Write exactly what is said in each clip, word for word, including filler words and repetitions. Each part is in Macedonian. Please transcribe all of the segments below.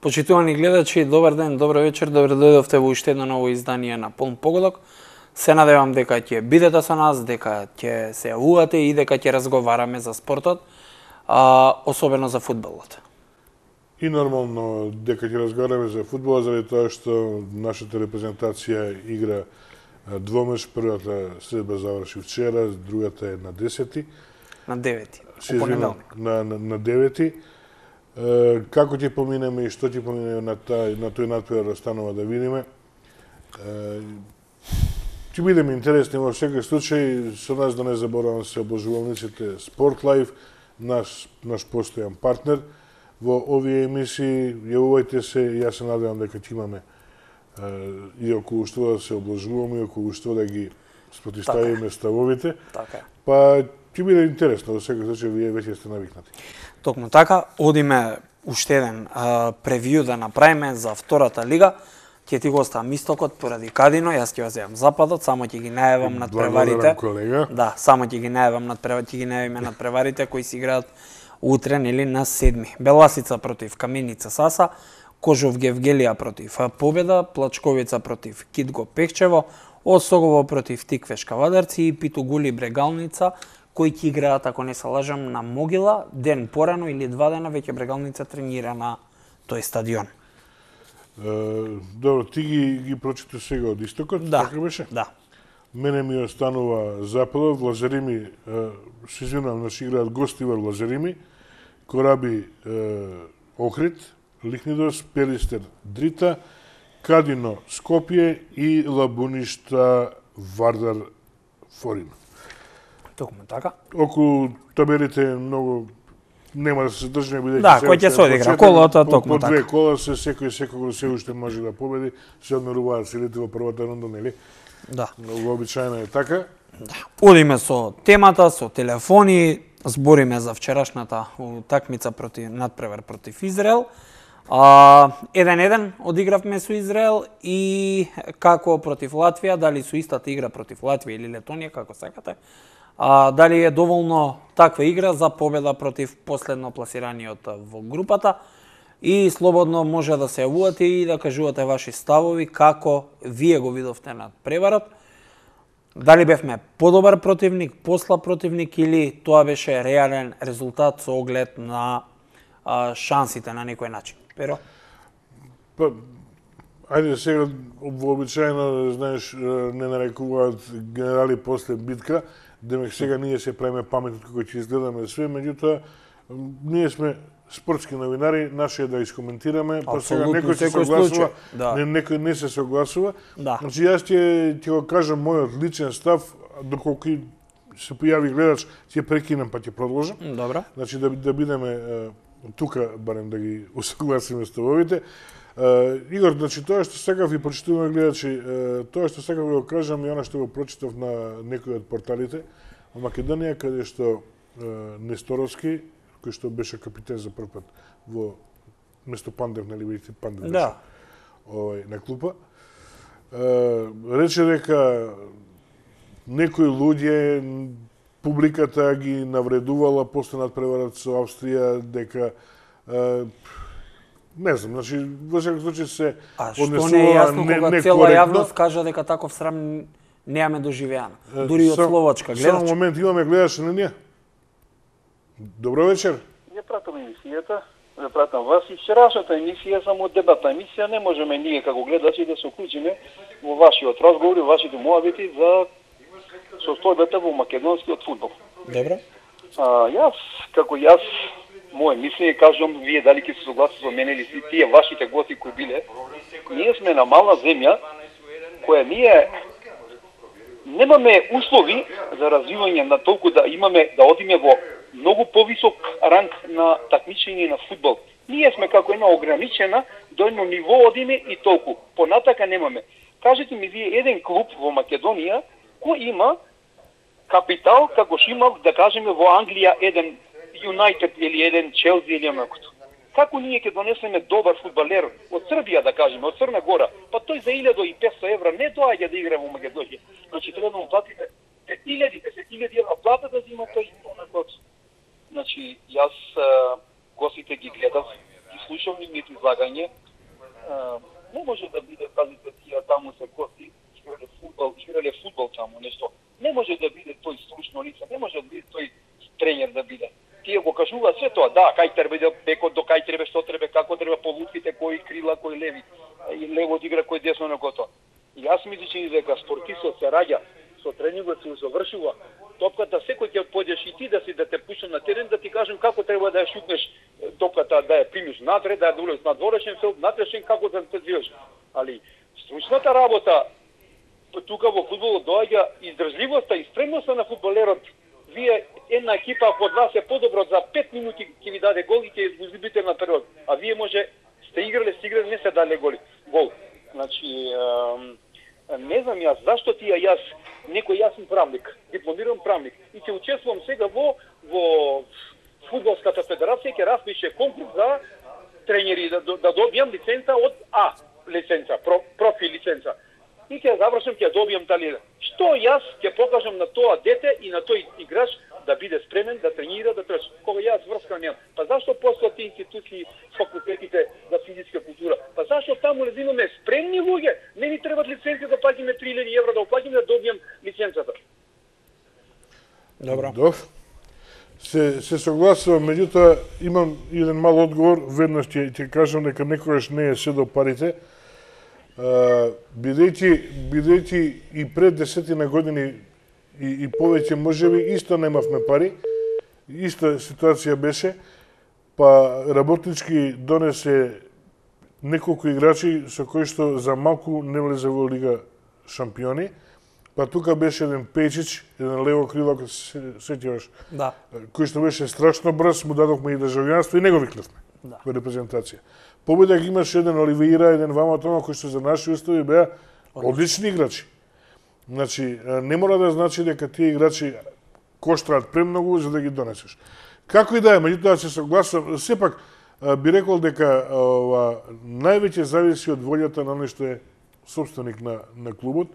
Почитувани гледачи, добар ден, добро вечер, добро дојдовте во уште едно ново издание на Полн погодок. Се надевам дека ќе бидете со нас, дека ќе се јавувате и дека ќе разговараме за спортот, а, особено за фудбалот. И нормално дека ќе разговараме за фудбалот, заради тоа што нашата репрезентација игра двомеч. Првата средба заврши вчера, другата е на десети. На девети, во понеделник. На, на, на девети. Е, како ќе поминеме и што ќе поминеме на, тај, на тој надпревар останува да видиме. Е, ќе бидеме интересни во секој случај. Со нас да не заборавам се обложувалниците Sport Life, наш, наш постојан партнер во овие емисии. Јавувајте се, јас се надевам дека ќе имаме и околу што да се обложуваме, и околу што да ги спротиставиме ставовите. Така. Па ќе биде интересно, во секој случај вие веќе сте навикнати. Токму така, одиме уште еден а, превиу да направиме за втората лига. Ќе ти го оставам истокот поради Кадино, јас ќе ја земам западот, само ќе ги најавам над преварите. Колега. Да, само ќе ги најавам над преварите, ќе ги најавиме над преварите кои се играат утре или на седми. Беласица против Каменица Саса, Кожов Гевгелија против Победа, Плачковица против Китго Пехчево, Осогово против Тиквеш Кавадарци и Питугули Брегалница, кои ќе играат, ако не се лажам, на Могила, ден порано или два дена веќе Брегалница тренира на тој стадион. Uh, добро, ти ги, ги прочита сега од истокот, да, така беше? Да. Мене ми останува западот, Лазарими, uh, се извинувам, наши играат Гостивар Лазарими, Кораби uh, Охрид, Лихнидос, Пелистер Дрита, Кадино Скопје и Лабуништа Вардар Форин. Токму така. Околу табелите многу нема да се држиме, бидејќи да, кој ќе се одигра колото, токму така. По две кола се секој секој се уште може да победи, се одмеруваат силите во првата рунда, нели? Да. Вообичаено е така. Да. Одиме со темата, со телефони, збориме за вчерашната утакмица против надпревар против Израел. А, еден-еден одигравме со Израел и како против Латвија, дали со истата игра против Латвија или Летонија, како сакате. А, дали е доволно таква игра за победа против последно пласираниот во групата и слободно може да се јавувате и да кажувате ваши ставови како вие го видовте над преварот. Дали бевме подобар противник, послаб противник или тоа беше реален резултат со оглед на а, шансите на некој начин. Pero? Па, ајде сега вообичаено, знаеш, не нарекуваат генерали после битка, демек сега ние се правиме паметни како ќе изгледаме све, меѓутоа ние сме спортски новинари, наше е да искоментираме, па сега некој се согласува, да. не, некој не се согласува. Да. Значи јас ќе ќе го кажам мојот личен став, доколку се појави гледач, ќе прекинам па ќе продолжам. Добро. Значи да да бидеме тука барем да ги усогласиме ставовите. Uh, Игор, значи тоа што сакав и прочитуваме гледачи, uh, тоа што сакав да го кажам и она што го прочитав на некои од порталите во Македонија, каде што uh, Несторовски, кој што беше капитен за прв пат во место Пандев, нели видите Пандев беше да. Овај на клупа, uh, рече дека некои луѓе публиката ги навредувала после надпреварот со Австрија, дека uh, не знам, значи, во секој случај се однесува не е јасно кога цела јавност кажа дека таков срам неаме доживеано. Дури од Словачка гледач. Само момент, имаме гледач на ние. Добро вечер. Ја пратам емисијата, ја пратам вас и вчерашната емисија, само дебатна емисија, не можеме ние како гледачи да се уклучиме во вашиот разговор и вашите муабети за состојбата во македонскиот фудбал. Добро. А, јас, како јас, моје мислење, кажувам, вие дали ќе се согласите со мене или си тие вашите гости кои биле, ние сме на мала земја, која ние немаме услови за развивање на толку да имаме, да одиме во многу повисок ранг на такмичење на фудбал. Ние сме како една ограничена, до едно ниво одиме и толку. Понатака немаме. Кажете ми вие еден клуб во Македонија кој има капитал како што има, да кажеме, во Англија еден Юнайтед или еден Челси или онакото. Како ние ќе донесеме добар фудбалер од Србија, да кажеме, од Црна Гора, па тој за илјада и петстотини евра не доаѓа да игра во Македонија. Значи треба да му платите илјади, десет илјади евра плата да зима тој онакот. Значи јас гостите ги гледав, ги слушам нивните излагање. Не може да биде, казите, тие таму се гости, играле фудбал, играле фудбал таму, нешто. Не може да биде тој стручно лице, не може да биде тој тренер да биде. Тие го кажува се тоа, да, кај треба да бекот, до кај треба, што треба, како треба по лутките, кои крила, кои леви, и лево одигра, кој десно на готово. И јас мислам дека спортистот се раѓа со тренингот се завршува. Топката секој ќе појдеш и ти да си да те пуштам на терен, да ти кажам како треба да ја шутнеш топката, да ја примиш натре, да ја долез на дворешен филд, натрешен како да се движиш. Али стручната работа тука во фудбалот доаѓа издржливоста и спремноста на фудбалерот. Вие една екипа под вас е подобро за пет минути ќе ви даде гол и ќе изгубите на период, а вие може сте играле, сте играле, не се даде голи. Гол. Значи, не знам јас зашто ти ја јас некој јас сум правник, дипломиран правник и ќе учествувам сега во во фудбалската федерација, ќе распише конкурс за тренери да, да добијам лиценца од А лиценца, про, профи лиценца. И ќе завршам, ќе добијам тали. Што јас ќе покажам на тоа дете и на тој играч да биде спремен, да тренира, да трчи. Кога јас врска немам. Па зашто постојат тие институции, факултетите за физичка култура? Па зашто таму не имаме спремни луѓе? Не ни требат лиценци да платиме три илјади евра да оплатиме да добијам лиценцата. Добро. Добро. Се се согласувам, меѓутоа имам еден мал одговор, веднаш ќе ќе кажам дека некогаш не е се до парите. Uh, бидејќи бидејќи и пред десетина години и, и повеќе можеби исто немавме пари, иста ситуација беше, па работнички донесе неколку играчи со кои што за малку не влезе во Лига шампиони, па тука беше еден Пејчич, еден лево крило, ако се сеќаваш, Да. кој што беше страшно брз, му дадовме и државјанство и него викнавме Да. во репрезентација. Победак имаше еден Оливеира, еден Вама Тома, кои што за наши устави беа одлични играчи. Значи, не мора да значи дека тие играчи коштраат премногу за да ги донесеш. Како и да е, меѓутоа се согласувам, сепак би рекол дека ова највеќе зависи од волјата на оној што е собственик на на клубот,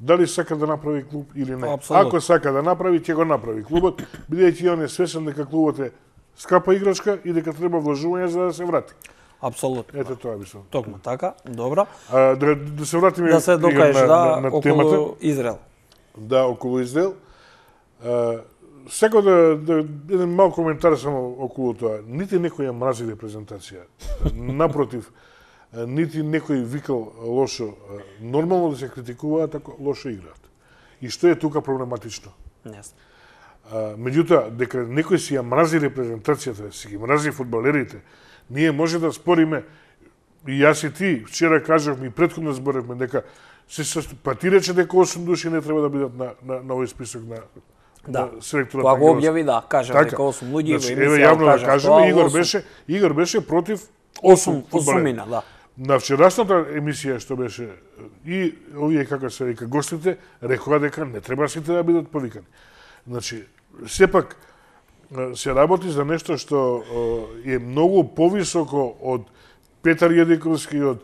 дали сака да направи клуб или не. Абсолютно. Ако сака да направи, ќе го направи клубот, бидејќи он е свесен дека клубот е скапа играчка и дека треба вложување за да се врати. Апсолутно. Ете тоа мислам. Токму така, добро. А, да, да се вратиме Да се докажеш на, да на, на околу темата. Израел. Да, околу Израел. А, сега да, да еден мал коментар само околу тоа. Нити некој ја мрази репрезентација. Напротив, нити некој викал лошо. Нормално да се критикуваат ако лошо играат. И што е тука проблематично? Не знам. А, меѓутоа, дека некој си ја мрази репрезентацијата, си ги мрази фудбалерите, ние може да спориме, и јас и ти, вчера кажавме и претходно зборевме дека се состав... па ти рече дека осум души не треба да бидат на, на, на овој список на, Да. на селекторот. Кога го објави, да, кажа дека осум луѓе, значи, во еве емисија јавно да кажа, кажеме, тоа Игор осум. беше, Игор беше против осум фудбалери. осумина, да. На вчерашната емисија што беше и овие како се вика гостите рекоа дека не треба сите да бидат повикани. Значи, сепак се работи за нешто што е многу повисоко од Петар Једиковски, од,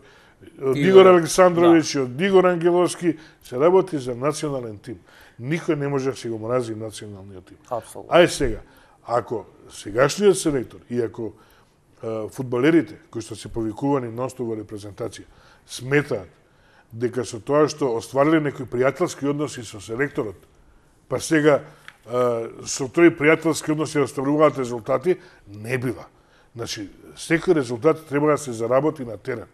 од Игор Александровиќ, да. од Игор Ангеловски, се работи за национален тим. Никој не може да си го мрази националниот тим. Апсолутно. Ај сега, ако сегашниот селектор и ако фудбалерите кои што се повикувани нонстоп во репрезентација сметаат дека со тоа што оствариле некои пријателски односи со селекторот, па сега со тој пријателски односи оставуваат резултати, не бива. Значи, секој резултат треба да се заработи на терен.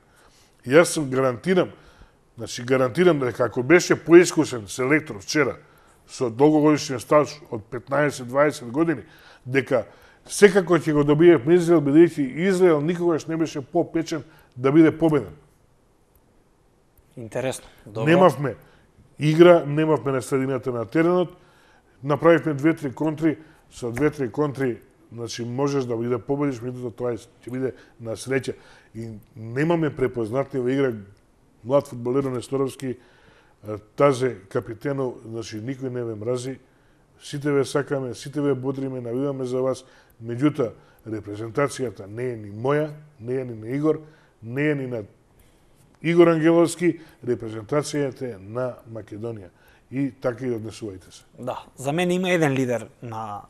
И јас сум гарантирам, значи гарантирам дека ако беше поискусен селектор вчера со долгогодишен стаж од петнаесет дваесет години, дека секако ќе го добие Израел, бидејќи Израел никогаш не беше попечен да биде победен. Интересно. Добро. Немавме игра, немавме на средината на теренот, направивме две-три контри, со две-три контри, значи можеш да биде победиш, меѓутоа тоа ќе биде на среќа. И немаме препознатлива игра, млад фудбалер Несторовски, Тазе капитенов, значи никој не ве мрази, сите ве сакаме, сите ве бодриме, навиваме за вас, меѓутоа репрезентацијата не е ни моја, не е ни на Игор, не е ни на Игор Ангеловски, репрезентацијата е на Македонија. И така и однесувајте се. Да, за мене има еден лидер на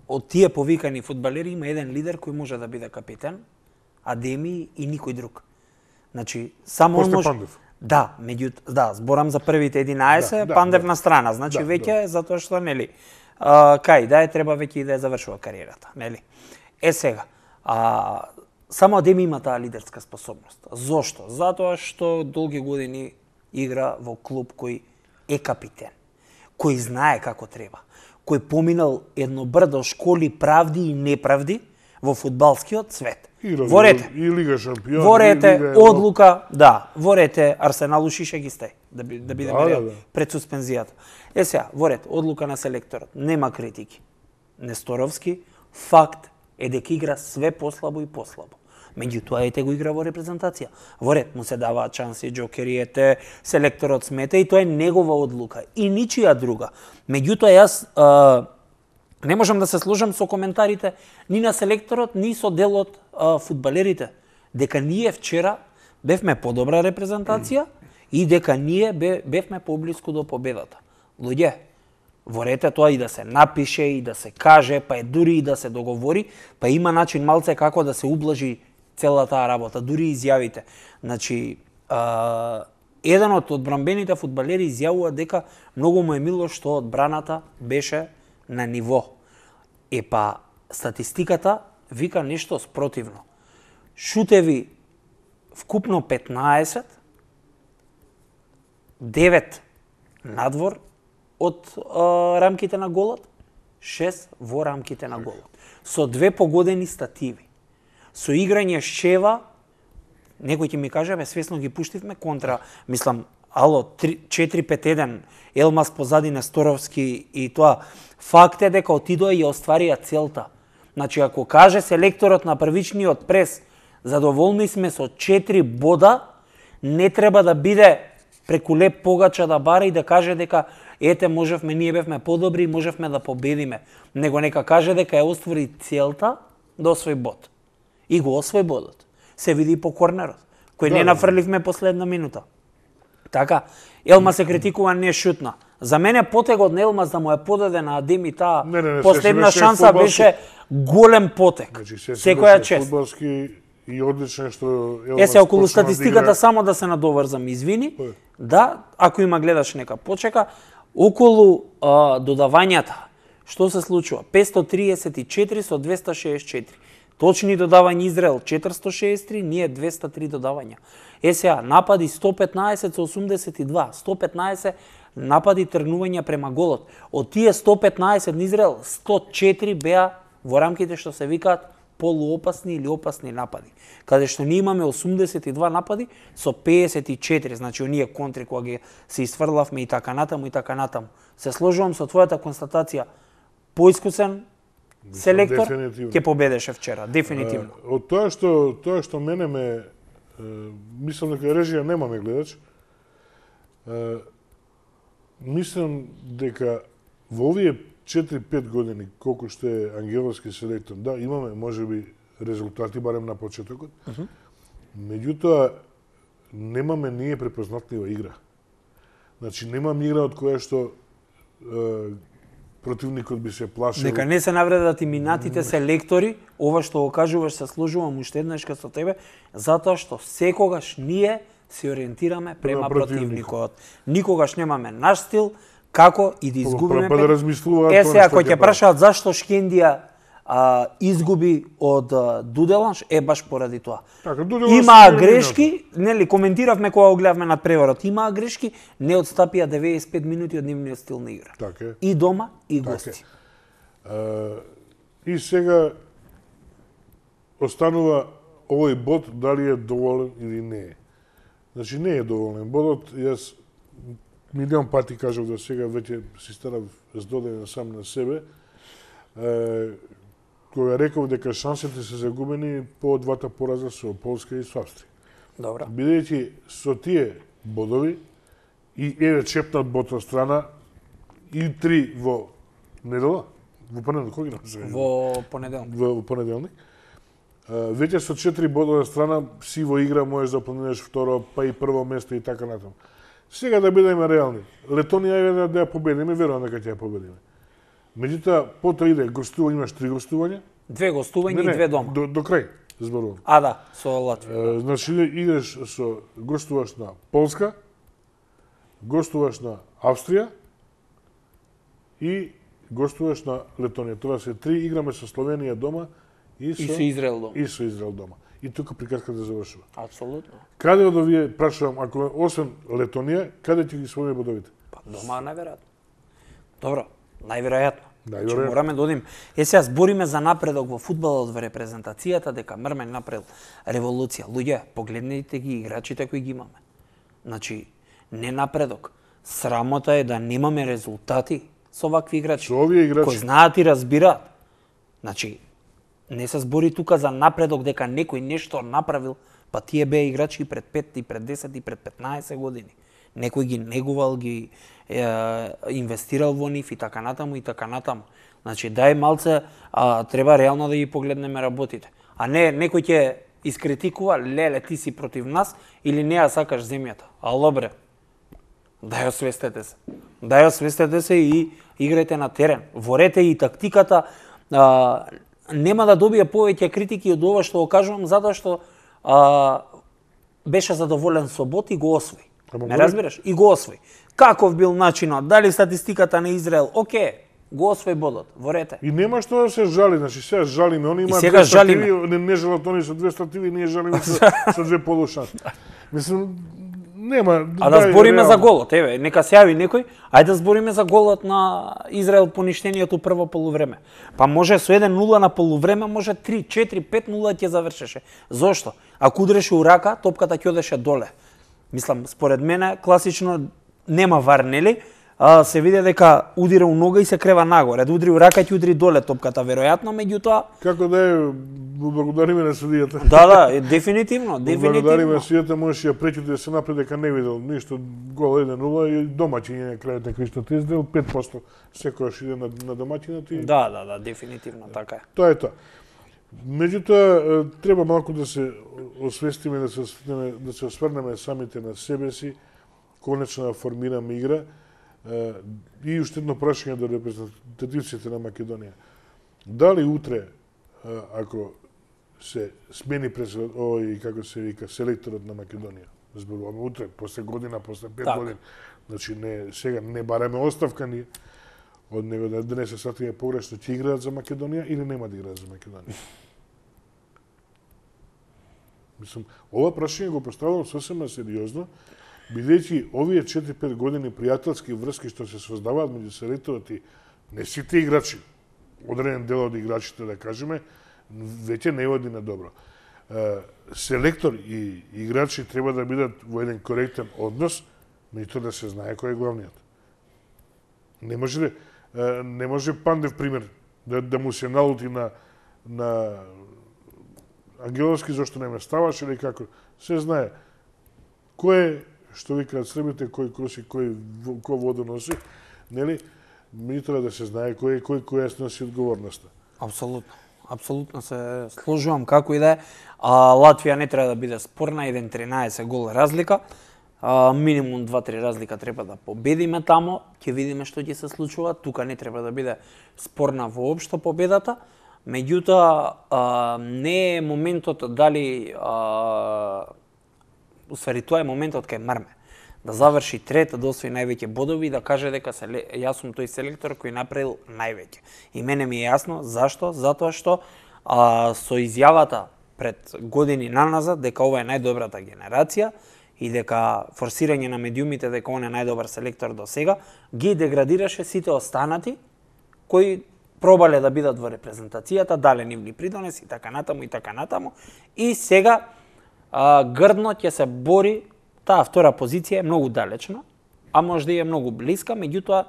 од тие повикани фудбалери, има еден лидер кој може да биде капитен, Адеми и никој друг. Значи, само После он може... Пандев. Да, меѓу да, зборам за првите единаесет, Да, да, Пандев да. на страна, значи Да, веќе затоа што нели. А, кај да е треба веќе и да е завршува кариерата, нели? Е сега, а само Адеми има таа лидерска способност. Зошто? Затоа што долги години игра во клуб кој е капитен, кој знае како треба, кој поминал едно брдо школи правди и неправди во фудбалскиот свет. И, Во рете, и Лига шампион. во рете, Лига... одлука, да, во рете Арсенал ушише ги стај, да, би, да бидеме Да, да, реални, да. пред суспензијата. Е сега, во ред, одлука на селекторот, нема критики. Несторовски, факт е дека игра све послабо и послабо. Меѓутоа ете го игра во репрезентација. Во ред му се даваат шанси, џокери, ете, селекторот смета и тоа е негова одлука и ничија друга. Меѓутоа јас а, не можам да се сложам со коментарите ни на селекторот, ни со дел од а, фудбалерите, дека ние вчера бевме подобра репрезентација и дека ние бевме поблиску до победата. Луѓе, во рете тоа и да се напише, и да се каже, па е дури и да се договори, па има начин малце како да се ублажи цела таа работа, дури изјавите. Значи, а, еден од одбранбените фудбалери изјавува дека многу му е мило што одбраната беше на ниво. Е па, статистиката вика нешто спротивно. Шутеви вкупно петнаесет, девет надвор од а, рамките на голот, шест во рамките на голот. Со две погодени стативи. Со играње шева, некој ќе ми каже, бе, свесно ги пуштивме контра, мислам, ало, четири пет еден, Елмас позади Несторовски и тоа. Факт е дека отидоа и остварија целта. Значи, ако каже селекторот на првичниот прес, задоволни сме со четири бода, не треба да биде преку леп погача да бара и да каже дека ете, можевме, ние бевме подобри и можевме да победиме. Него нека каже дека ја оствари целта да освои бод. И го освои бодот. Се види и по корнерот, кој Да, не да. нафрливме последна минута. Така, Елма се критикува, не шутна. За мене потегот на Елмас да му е подаде на Адеми таа Не, не, не, последна се- се шанса фудбалски- беше голем потек. Значи, се Секоја беше чест. Фудбалски и одлично што Е, се околу почна да статистиката игра. само да се надоврзам, извини. Кој? Да, ако има гледаш нека почека. Околу а, додавањата, што се случува? петстотини триесет и четири со двесте шеесет и четири. Точни додавања Израел четиристотини шеесет и три, ние двесте и три додавања. Е сега, напади сто петнаесет со осумдесет и два, сто петнаесет напади тргнувања према голот. Од тие сто петнаесет на Израел, сто и четири беа во рамките што се викаат полуопасни или опасни напади. Каде што ние имаме осумдесет и два напади со пеесет и четири, значи оние контри кога ги се isfрлавме и така натаму и така натаму. Се сложувам со твојата констатација. Поискусен селектор Дефинитивно. ќе победеше вчера, дефинитивно. А, од тоа што тоа што мене ме е, мислам дека режија немаме гледач. Е, мислам дека во овие четири-пет години колку што е ангеловски селектор, да, имаме можеби резултати барем на почетокот. Uh -huh. Меѓутоа немаме ние препознатлива игра. Значи немам игра од која што е, противникот би се плашил. Дека не се навредат и минатите селектори, ова што го кажуваш се сложувам уште еднашка со тебе, затоа што секогаш ние се ориентираме према противникот. Никогаш немаме наш стил, како и да изгубиме. Па да размислуваат Е, тоа сега, што кој ќе ќе прашаат зашто Шкендија а, изгуби од а, Дуделанш, е баш поради тоа. Така, Дуделанш Имаа се грешки, нели, коментиравме кога го гледавме над преворот, имаа грешки, не одстапија деветдесет и пет минути од нивниот стил на игра. Така е. И дома, и Така е. гости. А, и сега останува овој бод дали е доволен или не е. Значи не е доволен бодот, јас милион пати кажав до сега, веќе си станав здоден сам на себе, е, кога реков дека шансите се загубени по двата пораза со Полска и со Австрија. Добро. Бидејќи со тие бодови и еве чепнат бод од страна и три во недела, во понеделник, кој ги напиша? Во понеделник. Во, во понеделник. А, веќе со четири бода од страна си во игра можеш да планираш второ, па и прво место и така натаму. Сега да бидеме реални. Летонија е да, да ја победиме, верувам дека ќе ја победиме. Меѓутоа, потоа иде гостување, имаш три гостувања. Две гостувања и две дома. До, до крај. зборувам. А да, со Латвија. Значи играш со гостуваш на Полска, гостуваш на Австрија и гостуваш на Летонија. Тоа се три, играме со Словенија дома и со, И со Израел дома. И со Израел дома. И тука приказката завршува. Апсолутно. Каде од овие, прашувам, ако освен Летонија, каде ќе ги својме бодовите? Па дома најверојатно. Добро, најверојатно. Најверојатно. Значи, мораме да одим. Е, сега збориме за напредок во фудбалот, во репрезентацијата, дека Мрмен направил револуција. Луѓе, погледнете ги играчите кои ги имаме. Значи, не напредок. Срамота е да немаме резултати со вакви играчи. Со овие играчи. Кои знаат и разбираат. Значи, не се збори тука за напредок дека некој нешто направил, па тие беа играчи и пред пет, и пред десет, и пред петнаесет години. Некој ги негувал, ги е, инвестирал во нив и така натаму и така натаму. Значи, дај малце, а, треба реално да ги погледнеме работите. А не, некој ќе искритикува, леле, ти си против нас или не ја сакаш земјата. Ало бре, дај освестете се. Дај освестете се и играјте на терен. Ворете и тактиката. А, нема да добие повеќе критики од ова што го кажувам, затоа што а, беше задоволен со бот и го освои. Ме разбираш? И го освои. Каков бил начинот? Дали статистиката на Израел? Оке, го освои бодот. Ворете. И нема што да се жали, значи сега жалиме, они имаат сега две стативи, жалиме. не, не жалат они со две стативи, ние жалиме со, со две полушанси. Мислам, нема... А да дај, збориме реално. за голот, еве, нека се јави некој, ајде да збориме за голот на Израел поништението прво полувреме. Па може со еден нула на полувреме, може три, четири, пет нула ќе завршеше. Зошто? Ако удреше у рака, топката ќе одеше доле. Мислам, според мене, класично нема вар, нели? А, се види дека удира у нога и се крева нагоре. Да удри у рака ќе удри доле топката, веројатно, меѓутоа... Како да е, благодариме на судијата. Да, да, е, дефинитивно, дефинитивно. Благодариме на судијата, можеше ја пречити да се напред дека не видел ништо, гол еден нула и домаќиње на крајот на криштот издел, пет проценти секојаш иде на, на домаќинот и... Да, да, да, дефинитивно, така е. Тоа е тоа. Меѓутоа, треба малку да се освестиме, да се осврнеме, да се осврнеме самите на себе си, конечно да формираме игра. И уште едно прашање до репрезентативците на Македонија. Дали утре, ако се смени през ој, како се вика, селекторот на Македонија, зборуваме утре, после година, после пет так. години, значи не, сега не бараме оставка ние, од него да не се сватиме погрешно, ќе играат за Македонија или нема да играат за Македонија? Мислам, ова прашање го поставувам сосема сериозно, бидејќи овие четири-пет години пријателски врски што се создаваат меѓу селекторот и не сите играчи, одреден дел од играчите, да кажеме, веќе не води на добро. Селектор и играчи треба да бидат во еден коректен однос, меѓутоа да се знае кој е главниот. Не може не може Пандев пример да, да му се налути на на Ангеловски зашто не ме ставаш или како. Се знае кој е, што викаат србите, кој коси, кој кој воду носи, нели? Меѓутоа да се знае кој кој кој е носи одговорноста. Апсолутно. Апсолутно се сложувам како и да е. А, Латвија не треба да биде спорна, еден тринаесет гол разлика. А, минимум два-три разлика треба да победиме тамо, ќе видиме што ќе се случува. Тука не треба да биде спорна воопшто победата. Меѓутоа, не е моментот дали... А, усвари, тоа е моментот кај Мрме. Да заврши трета, да освои највеќе бодови и да каже дека се, јас сум тој селектор кој направил највеќе. И мене ми е јасно зашто, затоа што а, со изјавата пред години наназад дека ова е најдобрата генерација и дека форсирање на медиумите дека он е најдобар селектор до сега, ги деградираше сите останати кои пробале да бидат во репрезентацијата, дале нивни придонеси и така натаму и така натаму. И сега а, грдно ќе се бори, таа втора позиција е многу далечна, а можда и е многу блиска, меѓутоа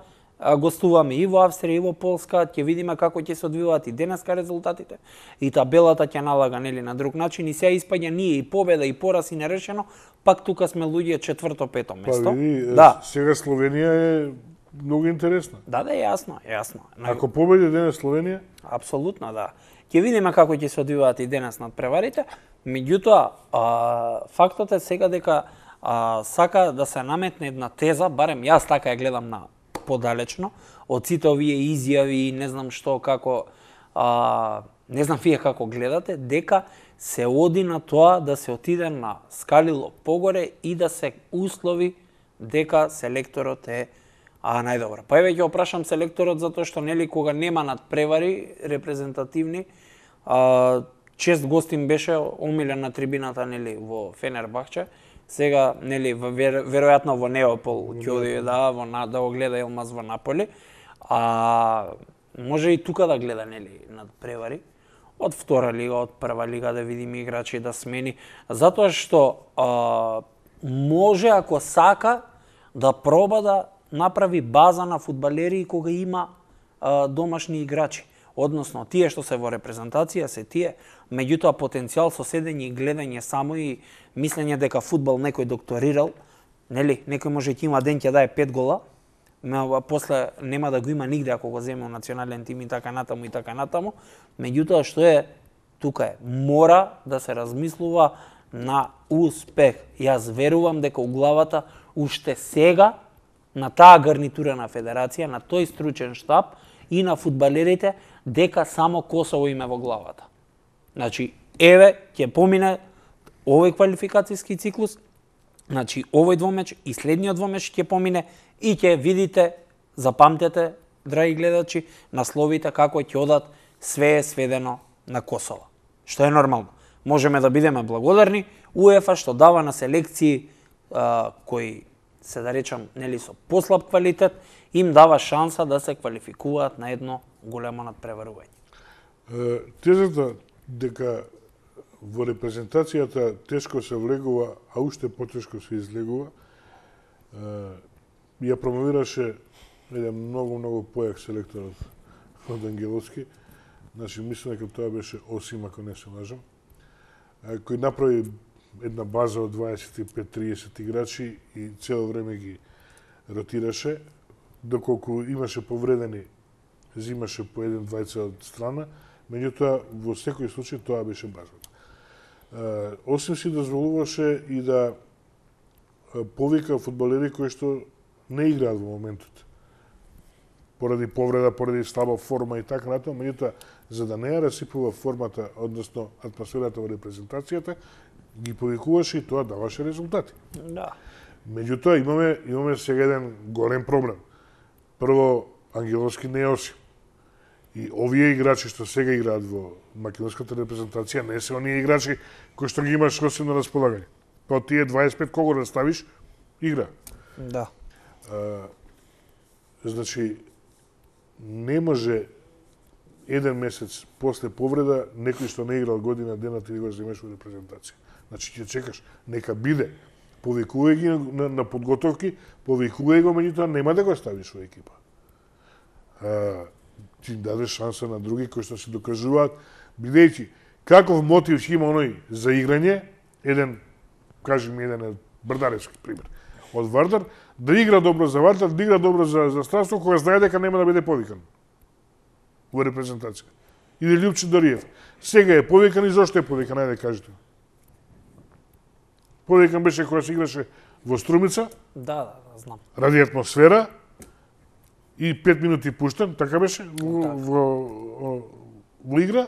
гостуваме и во Австрија и во Полска, ќе видиме како ќе се одвиваат и денеска резултатите, и табелата ќе налага нели на друг начин и сега испаѓа ние и победа и пораз и нерешено, пак тука сме луѓе четврто-пето место. Па види, да. Сега Словенија е многу интересна. Да, да, јасно, јасно. Ако победи денес Словенија? Апсолутно, да. Ќе видиме како ќе се одвиваат и денес над преварите, меѓутоа, фактот е сега дека а, сака да се наметне една теза, барем јас така ја гледам на подалечно, од сите овие изјави и не знам што, како а, не знам вие како гледате, дека се оди на тоа да се отиде на скалило погоре и да се услови дека селекторот е а најдобро. Па еве ќе опрашам селекторот затоа што нели кога нема надпревари репрезентативни, а, чест гостин беше омилен на трибината нели во Фенербахче. Сега нели вер, веројатно во Неопол ќе оди да во на да го гледа Елмаз во Наполи. А може и тука да гледа нели надпревари од втора лига, од прва лига да видиме играчи да смени, затоа што а, може ако сака да проба да направи база на фудбалери кога има а, домашни играчи. Односно, тие што се во репрезентација се тие, меѓутоа потенцијал со седење и гледање само и мислење дека фудбал некој докторирал, нели, некој може ќе има ден ќе дае пет гола, а после нема да го има нигде ако го земе во национален тим и така натаму и така натаму. Меѓутоа што е тука е, мора да се размислува на успех. Јас верувам дека у главата уште сега на таа гарнитура на федерација, на тој стручен штаб и на фудбалерите дека само Косово име во главата. Значи, еве ќе помине овој квалификацијски циклус, значи овој двомеч и следниот двомеч ќе помине и ќе видите, запамтете, драги гледачи, насловите како ќе одат, све е сведено на Косово. Што е нормално. Можеме да бидеме благодарни УЕФА што дава на селекции а, кои се да речам нели со послаб квалитет, им дава шанса да се квалификуваат на едно големо надпреварување. Тезата дека во репрезентацијата тешко се влегува, а уште потешко се излегува, ја промовираше еден многу, многу појак селектор од Ангеловски. Значи, мислам дека тоа беше Осим, ако не се лажам, кој направи една база од дваесет и пет до триесет играчи и цело време ги ротираше, доколку имаше повредени, зимаше по еден двајца од страна, меѓутоа во секој случај тоа беше базата. Осим си дозволуваше и да повика фудбалери кои што не играат во моментот. Поради повреда, поради слаба форма и така натаму, меѓутоа за да не ја расипува формата, односно атмосферата во репрезентацијата, ги повикуваше и тоа даваше резултати. Да. Меѓутоа имаме имаме сега еден голем проблем. Прво, Ангеловски не е Осим. И овие играчи што сега играат во македонската репрезентација не се оние играчи кои што ги имаш Осим на располагање. Па тие дваесет и пет кого да ставиш, игра. Да. А, значи, не може еден месец после повреда некој што не играл година дена ти го земеш во репрезентација. Значи ќе чекаш, нека биде. Повикувај ги на, на подготовки, повикувај го, меѓутоа нема да го ставиш во екипа. А, ти дадеш шанса на други кои што се докажуваат, бидејќи каков мотив ќе има оној за играње, еден, кажи ми еден Брдаревски пример, од Вардар, да игра добро за Вардар, да игра добро за, за Странство, кога знае дека нема да биде повикан во репрезентација. Или Љупче Дариев. Сега е повикан и зошто е повикан, ајде кажете. Повикан беше кога се играше во Струмица. Да, да, да, знам. Ради атмосфера и пет минути пуштен, така беше, во, во, во, во игра.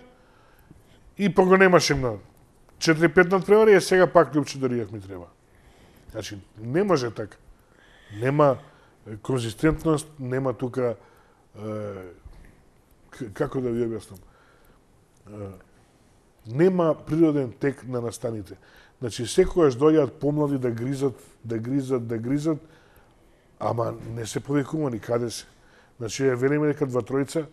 И па го немаше на четири-пет надпревари, а сега пак Љупче Дариев ми треба. Значи, не може така. Нема конзистентност, нема тука е, како да ви објаснам. Нема природен тек на настаните. Значи, секојаш дојаат помлади да гризат, да гризат, да гризат, ама не се повикувани каде се. Значи, вериме дека два тројца,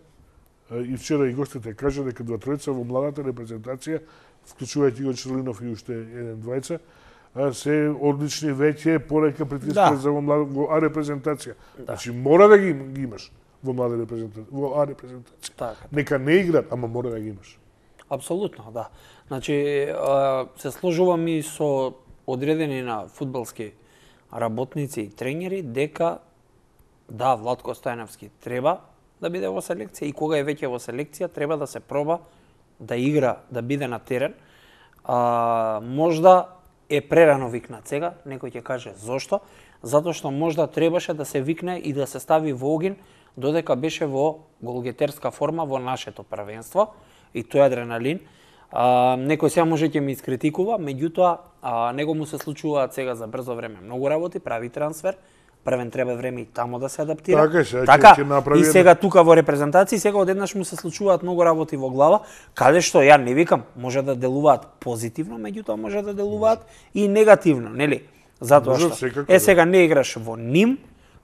и вчера и гостите кажа дека два тројца во младата репрезентација, вклучувајќи го Черлинов и уште еден двајца, се одлични веќе, порека притискаат да. За во, млад, во А репрезентација. Да. Значи, мора да ги, ги имаш во млада репрезентација, во А репрезентација. Така. Нека не играат, ама мора да ги имаш. Апсолутно, да. Значи, се сложувам и со одредени на фудбалски работници и тренери дека да, Владко Стојановски треба да биде во селекција и кога е веќе во селекција треба да се проба да игра, да биде на терен. А, можда е прерано викнат сега, некој ќе каже зошто, затоа што можда требаше да се викне и да се стави во огин додека беше во голгетерска форма во нашето првенство и тој адреналин. А, некој сега може ќе ми искритикува, меѓутоа а, него му се случуваат сега за брзо време многу работи, прави трансфер, првен треба време и тамо да се адаптира. Така, сега така ќе направи и сега тука во репрезентација, сега одеднаш му се случуваат многу работи во глава, каде што ја не викам, може да делуваат позитивно, меѓутоа може да делуваат и негативно, нели? Затоа Може, што секако, е да. сега не играш во Ним,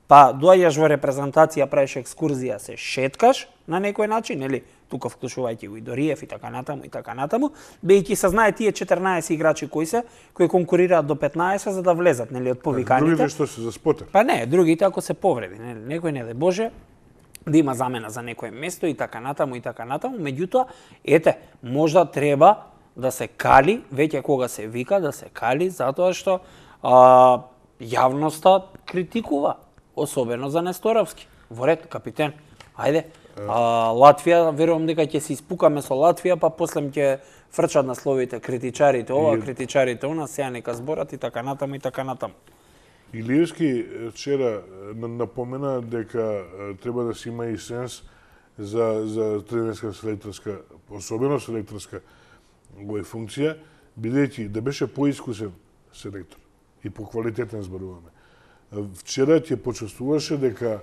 па доаѓаш во репрезентација, правиш екскурзија, се шеткаш на некој начин, нели? Тука вклучувајќи го и Дориев и така натаму и така натаму, бејќи се знае тие четрнаесет играчи кои се, кои конкурираат до петнаесет за да влезат, нели, од повиканите. Другите што се за спотер. Па не, другите ако се повреди, нели, некој не дај Боже да има замена за некое место и така натаму и така натаму, меѓутоа, ете, можда треба да се кали, веќе кога се вика да се кали, затоа што а, јавноста критикува, особено за Несторовски. Во ред, капитен, ајде. А, Латвија, верувам дека ќе се испукаме со Латвија, па после ќе фрчат на словите критичарите ова, И- критичарите она, сега нека зборат и така натаму и така натаму. Илиевски вчера на- напомена дека е, треба да се има и сенс за за тренерска селекторска, особено селекторска овој функција, бидејќи да беше поискусен селектор и поквалитетен зборуваме. Е, Вчера ќе почувствуваше дека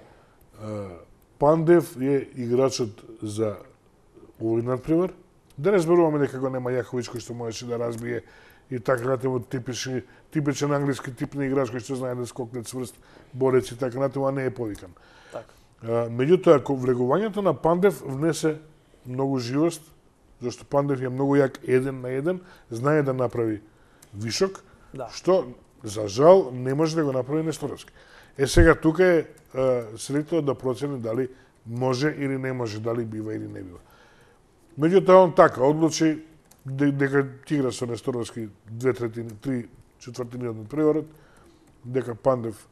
е, Пандев е играчот за овој надпревар. Да не зборуваме дека го нема Јаховиќ кој што можеше да разбие и така натаму типични типичен англиски тип на играч кој што знае да скокне цврст, борец и така натаму, а не е повикан. Така. А, меѓутоа, ко- влегувањето на Пандев внесе многу живост, зашто Пандев е многу јак еден на еден, знае да направи вишок, Да. што за жал не може да го направи Несторовски. Е сега тука е а, селекторот да процени дали може или не може, дали бива или не бива. Меѓутоа он така одлучи де- дека ќе игра со Несторовски две третини, три четвртини од надпреварот, дека Пандев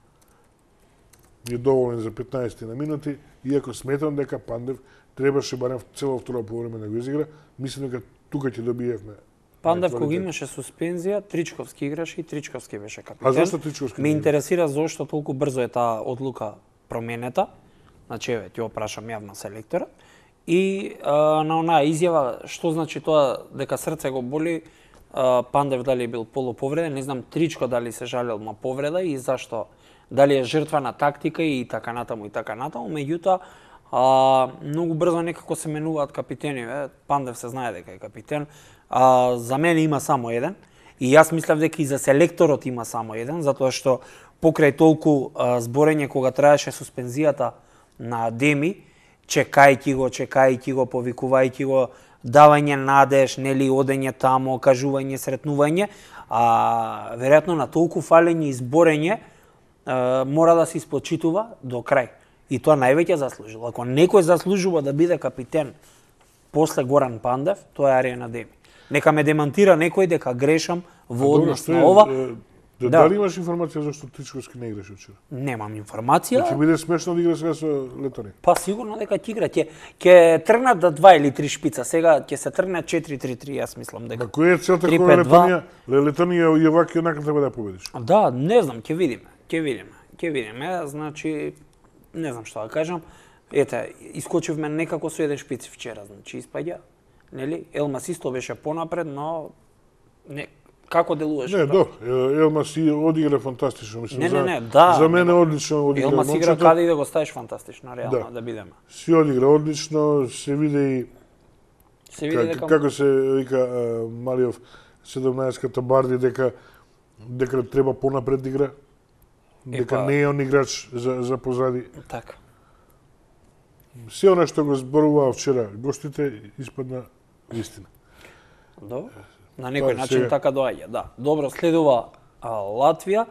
е доволен за петнаесет на минути, иако сметам дека Пандев требаше барем цело второ полувреме да го изигра, мислам дека тука ќе добиевме. Пандев на кога квалитет. имаше суспензија, Тричковски играше и Тричковски беше капитен. А зашто Тричковски Ме не игра? интересира зошто толку брзо е таа одлука променета. Значи, еве, ќе опрашам јавно селекторот. И а, на онаа изјава, што значи тоа дека срце го боли, а, Пандев дали бил полуповреден, не знам Тричко дали се жалел на повреда и зашто, дали е жртва на тактика и така натаму и така натаму, меѓутоа а, многу брзо некако се менуваат капитени, е, Пандев се знае дека е капитен, а, за мене има само еден и јас мислев дека и за селекторот има само еден, затоа што покрај толку а, зборење кога траеше суспензијата на Деми, чекајќи го, чекајќи го, повикувајќи го, давање надеж, нели, одење тамо, кажување, сретнување, а веројатно на толку фалење и зборење а, мора да се испочитува до крај. И тоа највеќе заслужил. Ако некој заслужува да биде капитен после Горан Пандев, тоа е Аријан Адеми. Нека ме демантира некој дека грешам во однос на ова. Да, Да. дали имаш информација зашто Тричковски не играше вчера? Немам информација. Ќе биде смешно да игра сега со Летонија. Па сигурно дека ќе игра, ќе ќе тргнат да два или три шпица. Сега ќе се тргне четири три три, јас мислам дека. Ма која е целта три која пет два. Летонија? Летонија и овака и онака треба да ја победиш. Да, не знам, ќе видиме. Ќе видиме. Ќе видиме, значи не знам што да кажам. Ете, искочивме некако со еден шпиц вчера, значи испаѓа. Нели? Елмас исто беше понапред, но не како делуваше? Не, тоа? до, Елмас си одигра фантастично, мислам. Не, за, не, не, да. За мене одлично одигра. Елмас игра момчето. каде и да го ставиш фантастично, реално Да. да, бидеме. Си одигра одлично, се виде и Се види как, дека како се вика а, Малиов седумнаесетката Барди дека дека треба понапред да игра. Дека Епа- не е он играч за за позади. така. Се она што го зборуваа вчера гостите испадна вистина. Добро. На некој Па, начин сега- така доаѓа, да. Добро, следува а, Латвија.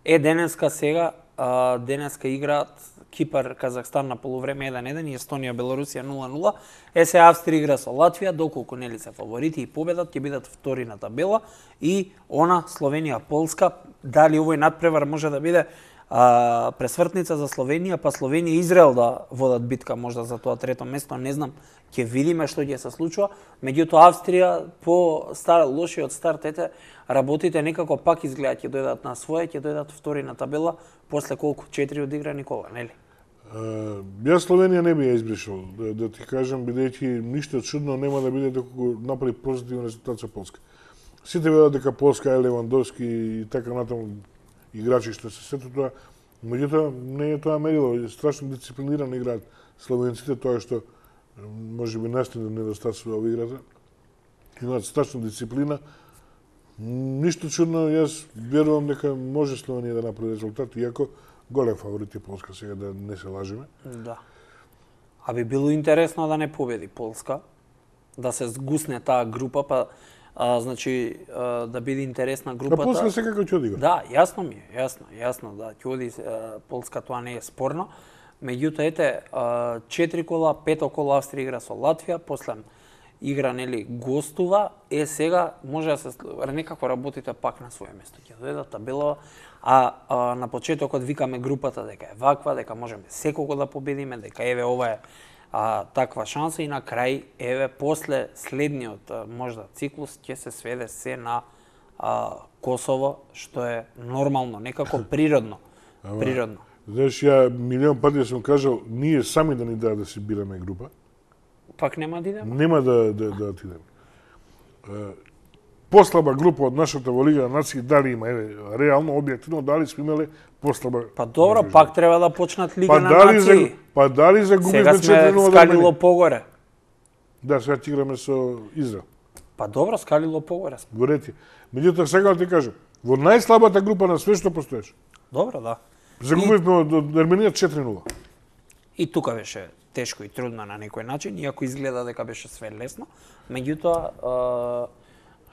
Е, денеска сега, а, денеска играат Кипар, Казахстан на полувреме еден еден и Естонија, Белорусија нула нула. Е, се Австрија игра со Латвија, доколку нели се фаворити и победат, ќе бидат втори на табела. И она, Словенија, Полска, дали овој надпревар може да биде а, пресвртница за Словенија, па Словенија и Израел да водат битка можда за тоа трето место, не знам, ќе видиме што ќе се случува. Меѓутоа Австрија по стар лошиот старт, ете, работите некако пак изгледа ќе дојдат на своје, ќе дојдат втори на табела после колку четири одиграни кола, нели? Јас Словенија не би ја избришал, да, да ти кажам, бидејќи ништо чудно нема да биде доколку направи позитивен резултат со Полска. Сите велат дека Полска е Левандовски и така натаму играчи што се сето тоа, меѓутоа не е тоа мерило, страшно дисциплинирано играат словенците, тоа што можеби настина недостатствува во играта. Имаат страшна дисциплина. Ништо чудно, јас верувам дека може Словенија да направи резултат, иако голем фаворит е Полска, сега да не се лажеме. Да. А би било интересно да не победи Полска, да се сгусне таа група, па а, значи а, да биде интересна групата. А Полска секако ќе одига. Да, јасно ми е, јасно, јасно, да, ќе оди а, Полска, тоа не е спорно. Меѓутоа, ете, а, четири кола, пето кола Австрија игра со Латвија, после игра, нели, гостува, е сега може да се некако работите пак на своје место. Ќе дојде табелава, а, а на почетокот викаме групата дека е ваква, дека можеме секого да победиме, дека еве ова е а, таква шанса и на крај, еве, после следниот а, можда циклус ќе се сведе се на а, Косово, што е нормално, некако природно. Ама, природно. Знаеш, ја милион пати сум кажал, ние сами да ни дадат да си бираме група. Пак нема да идеме? Нема да, да, да отидеме. Послаба група од нашата во Лига на нации, дали има, еве, реално, објективно, дали сме имале послаба... Па добро, група. пак треба да почнат Лига па на дали нации. За, па дали загубивме Сега четири нула сме да скалило погоре. Да, сега ќе играме со Израел. Па добро, скалило погоре сме. Горети. Меѓутоа, сега да ти кажам, во најслабата група на све што постоеше. Добро, да. Загубивме од, од Ерменија четири нула. И тука беше тешко и трудно на некој начин, иако изгледа дека беше све лесно. Меѓутоа,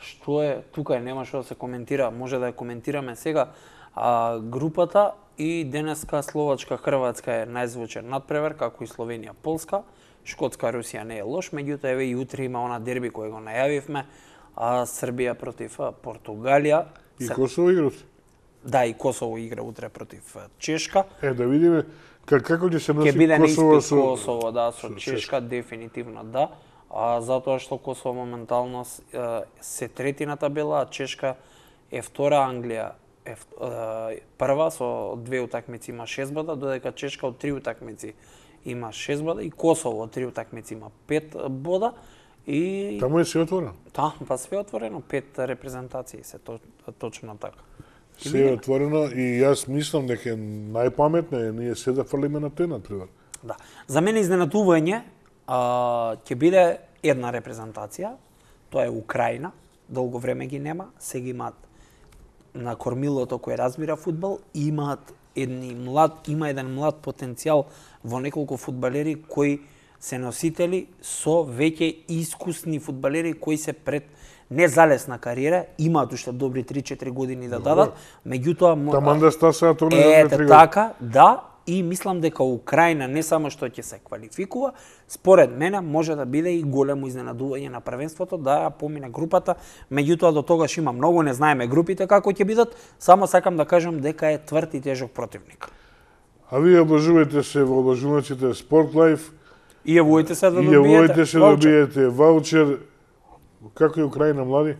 што е, тука нема што да се коментира, може да ја коментираме сега. А, групата и денеска Словачка, Хрватска е најзвучен надпревар, како и Словенија, Полска. Шкотска, Русија не е лош, меѓутоа еве и утре има она дерби кој го најавивме, а Србија против Португалија. И Косово игра. Да, и Косово игра утре против Чешка. Е, да видиме как, како ќе се носи Ќе биде Косово неиспит со... Косово, да, со, со Чешка, Чешка, дефинитивно да. А, затоа што Косово моментално се трети на табела, а Чешка е втора, Англија е прва со две утакмици има шест бода, додека Чешка од три утакмици има шест бода и Косово од три утакмици има пет бода. И таму е се отворено. Да, па све отворено, пет репрезентации се то, точно така. Се е отворено и јас мислам дека е најпаметно е ние се да фрлиме на тој надпревар. Да. За мене изненадување а, ќе биде една репрезентација, тоа е Украина, долго време ги нема, сега имаат на кормилото кој разбира фудбал, имаат едни млад, има еден млад потенцијал во неколку фудбалери кои се носители со веќе искусни фудбалери кои се пред незалесна кариера, имаат уште добри три-четири години да дадат, меѓутоа таман да стасаат тоа е така, да, и мислам дека Украина не само што ќе се квалификува, според мене може да биде и големо изненадување на првенството, да ја помине групата, меѓутоа до тогаш има многу, не знаеме групите како ќе бидат, само сакам да кажам дека е тврд и тежок противник. А вие облажувајте се во облажувачите Sport Life. И јавувајте се да добиете. добиете. И јавувајте се да добиете ваучер. Како е Украина, млади?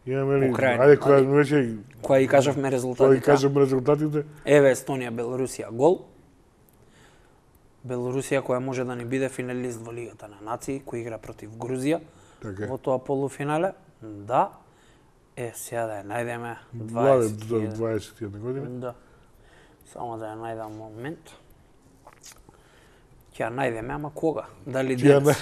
Имаме ли? Украина. Ајде, која веќе... Која и кажавме резултатите. Која и кажавме резултатите. Еве Естонија, Белорусија гол. Белорусија која може да ни биде финалист во Лигата на нации, кој игра против Грузија. Така. Во тоа полуфинале. Да. Е, сега да ја најдеме дваесет до дваесет и една година. Да. Само да ја најдам момент. Ќе ја најдеме, ама кога? Дали денес?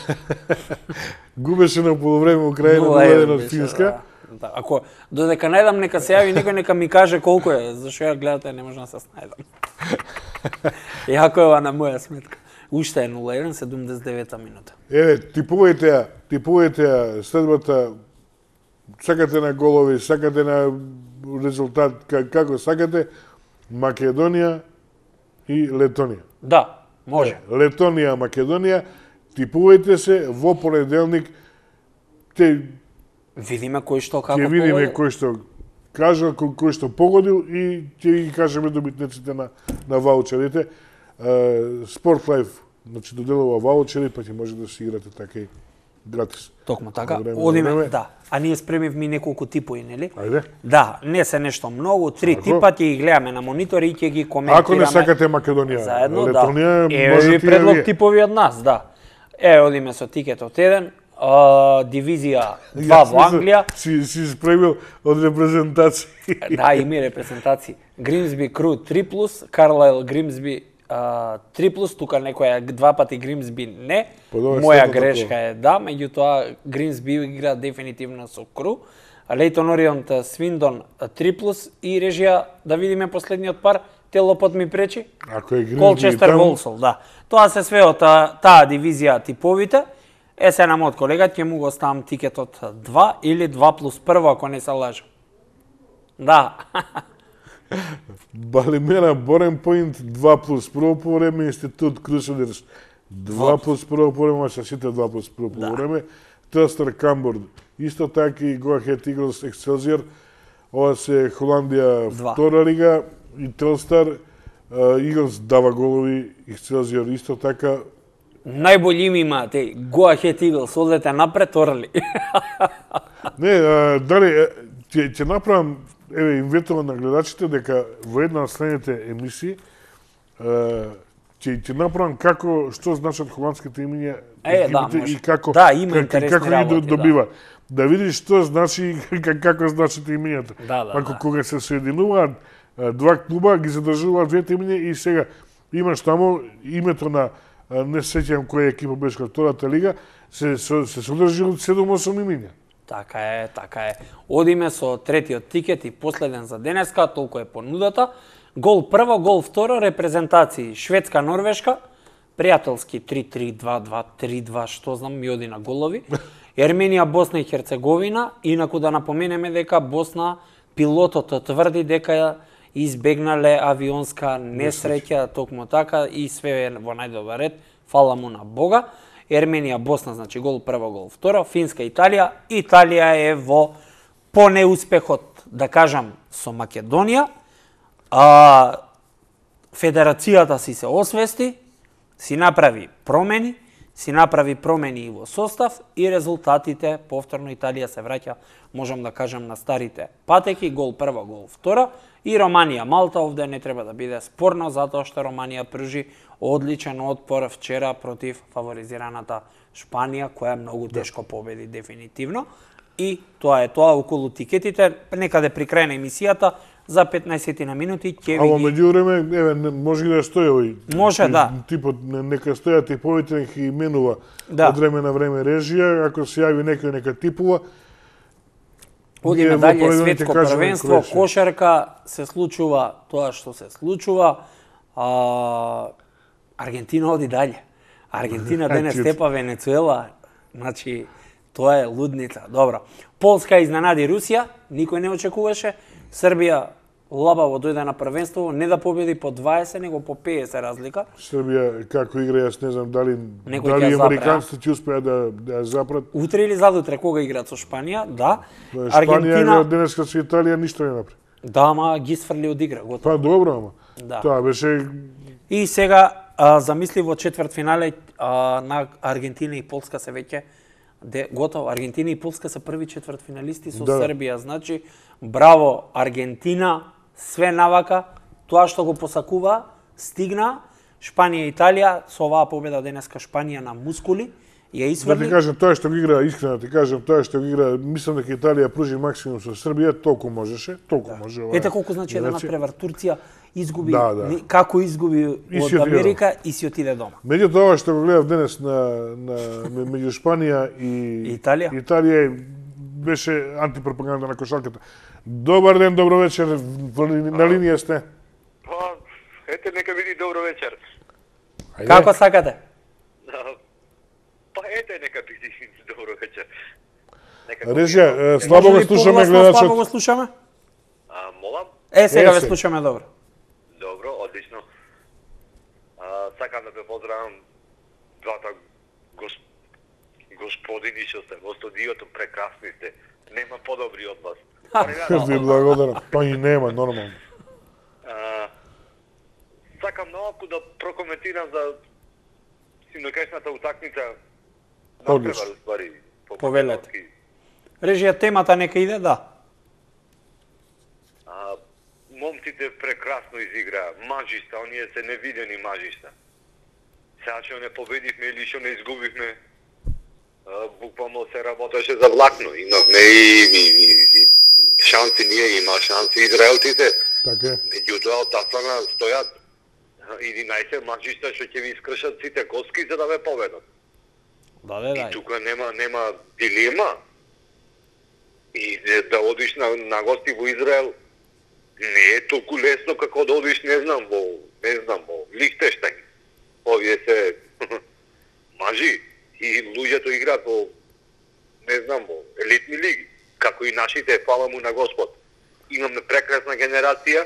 Губеше на полувреме Украина нула еден од Финска. Да, да. Ако додека најдам, нека се јави некој, нека ми каже колку е, зашто ја гледате не можам да се снајдам. Јако е ова на моја сметка. Уште е нула еден, седумдесет и девета минута. Еве, типувајте ја, типувајте ја следбата, сакате на голови, сакате на резултат, како сакате, Македонија и Летонија. Да, може. Летонија, Македонија, типувајте се во понеделник. Те видиме кој што како ќе видиме погодил. кој што кажа, кој што погодил и ќе ги кажеме добитниците на на ваучерите. Sport Life, значи доделува ваучери, па ќе може да си играте така и гратис. Токму така. Време на Одиме, време. да. А ние спремивме неколку типови, нели? Ајде. Да, не се нешто многу, три Ако? типа ќе ги гледаме на монитори и ќе ги коментираме. Ако не сакате Македонија, заедно, Летонија, да. Еве можете ви и предлог вие. типови од нас, да. Е, одиме со тикетот еден, а, дивизија два Јас во Англија. Си, си спремил од репрезентација. Да, има и репрезентации. Гримсби Кру три плюс, Карлайл Гримсби а, три плюс, тука некоја два пати Гримсби не. Па добро, Моја статото грешка тоа. е да, меѓутоа Гримсби игра дефинитивно со Кру. Лейтон Орионт Свиндон три плюс и режија да видиме последниот пар, Телопот ми пречи. Ако е Гримсби Колчестер таму, Волсол, да. Тоа се све од таа, таа дивизија типовите. Е, се на мојот колега ќе му го ставам тикетот два или два плюс прво, ако не се лажам. Да. Балимера Борен Поинт два плюс прво по време, Институт Крусодерс два плюс прво по време, се сите два плюс прво по време, Телстар Камборд, исто така и Go Ahead Eagles Excelsior, ова се Холандија Два. втора лига и Телстар, Eagles дава голови, Excelsior исто така. Најбољи име имате, Go Ahead Eagles, одете напред, орли. Не, а, дали, е, ќе, ќе направам, еве, инветувам на гледачите дека во една од следните емисии е, ќе, ќе направам како, што значат холандските имиња Е, да, екипите може. и како, Да, има как- интересни како ги работи, да. добива. Да видиш што значи, как- како значат имињата. Да, да, Ако да. кога се соединуваат е, два клуба, ги задржуваат двете имиња и сега имаш таму името на, е, не се сеќавам која екипа беше од втората лига, се, се, се содржи од седум-осум имиња. Така е, така е. Одиме со третиот тикет и последен за денеска, толку е понудата. Гол прво, гол второ, репрезентации Шведска, Норвешка, пријателски три три два два три два, што знам, ми оди на голови. Ерменија, Босна и Херцеговина, инаку да напоменеме дека Босна, пилотот тврди дека ја избегнале авионска несреќа, токму така, и све е во најдобар ред, фала му на Бога. Ерменија, Босна, значи гол прво, гол второ, Финска, Италија. Италија е во по неуспехот, да кажам, со Македонија. А, федерацијата си се освести, си направи промени, си направи промени и во состав и резултатите, повторно Италија се враќа, можам да кажам, на старите патеки, гол прво, гол второ, и Романија, Малта овде не треба да биде спорно, затоа што Романија пржи одличен отпор вчера против фаворизираната Шпанија, која многу тешко победи дефинитивно. И тоа е тоа околу тикетите, некаде при крај на емисијата, за петнаесет на минути ќе Ама ви ги... меѓу време, еве, не- може и да стои овој. Може, тип- да. Типот, не- нека стојат типовите, нека ги именува Да. од време на време режија, ако се јави некој нека типува. Одиме ние во дале, понеделник ќе светско кажеме првенство, кој ще. кошарка, се случува тоа што се случува. А, Аргентина оди дале. Аргентина денес Чит. степа Венецуела, значи тоа е лудница. Добро. Полска изненади Русија, никој не очекуваше. Србија лабаво дојде на првенство, не да победи по дваесет, него по петдесет разлика. Србија како игра, јас не знам дали Некој ќе дали ја запре, американците ќе успеат да да ја запрат. Утре или задутре кога играат со Шпанија, да. Шпанија Аргентина, денеска со Италија ништо не направи. да, ама ги сфрли од игра, готово. Па добро, ама. Да. Тоа беше И сега, а, замисли во четвртфинале а, на Аргентина и Полска се веќе де, готово. Аргентина и Полска се први четвртфиналисти со Да. Србија. Значи, браво Аргентина, све навака, тоа што го посакува, стигна. Шпанија и Италија, со оваа победа денеска Шпанија на мускули, ја да ти исфрли. кажам тоа што го игра, искрено да ти кажам тоа што го игра, мислам дека Италија пружи максимум со Србија, толку можеше, толку може. ова е Ете колку значи еден генерација. надпревар. Турција изгуби, Да, да. ни- како изгуби И си од отиде Америка и си отиде дома. Меѓутоа, ова што го гледав денес на, на ме- меѓу Шпанија и Италија? Италија беше антипропаганда на кошарката. Добар ден, добро вечер, во ли- на линија сте. Па, ете, нека биде добро вечер. Ајде. Како сакате? Па, ете, нека биде добро вечер. Нека Режија, е, слабо го Може ли слушаме погласно, слабо го гледачот. слушаме? А, молам? Е, сега Е, ве се. слушаме добро. Добро, одлично. А, сакам да ве поздравам двата гос... господини што сте во студиото, прекрасни сте. Нема подобри од вас. Ви благодарам. Па и нема, нормално. А, сакам малку да прокоментирам за синокешната утакмица Одлично. Надпревар, уствари, по Повелете. македонски. Режија темата нека иде, да. А, момците прекрасно изиграа, мажиста, оние се невидени мажиста. Сега што не победивме или што не изгубивме, а, буквално се работеше за влакно. Имавме и, и, и, и шанси, ние има шанси израелците. Така е. Меѓутоа, од таа страна стојат единаесет мажиста што ќе ви искршат сите коски за да ве победат. Да, да, И да. тука нема нема дилема. И да одиш на, на гости во Израел не е толку лесно како да одиш, не знам, во не знам, во Лихтенштајн. Овие се мажи и луѓето играат во не знам, во елитни лиги, како и нашите, фала му на Господ. Имаме прекрасна генерација,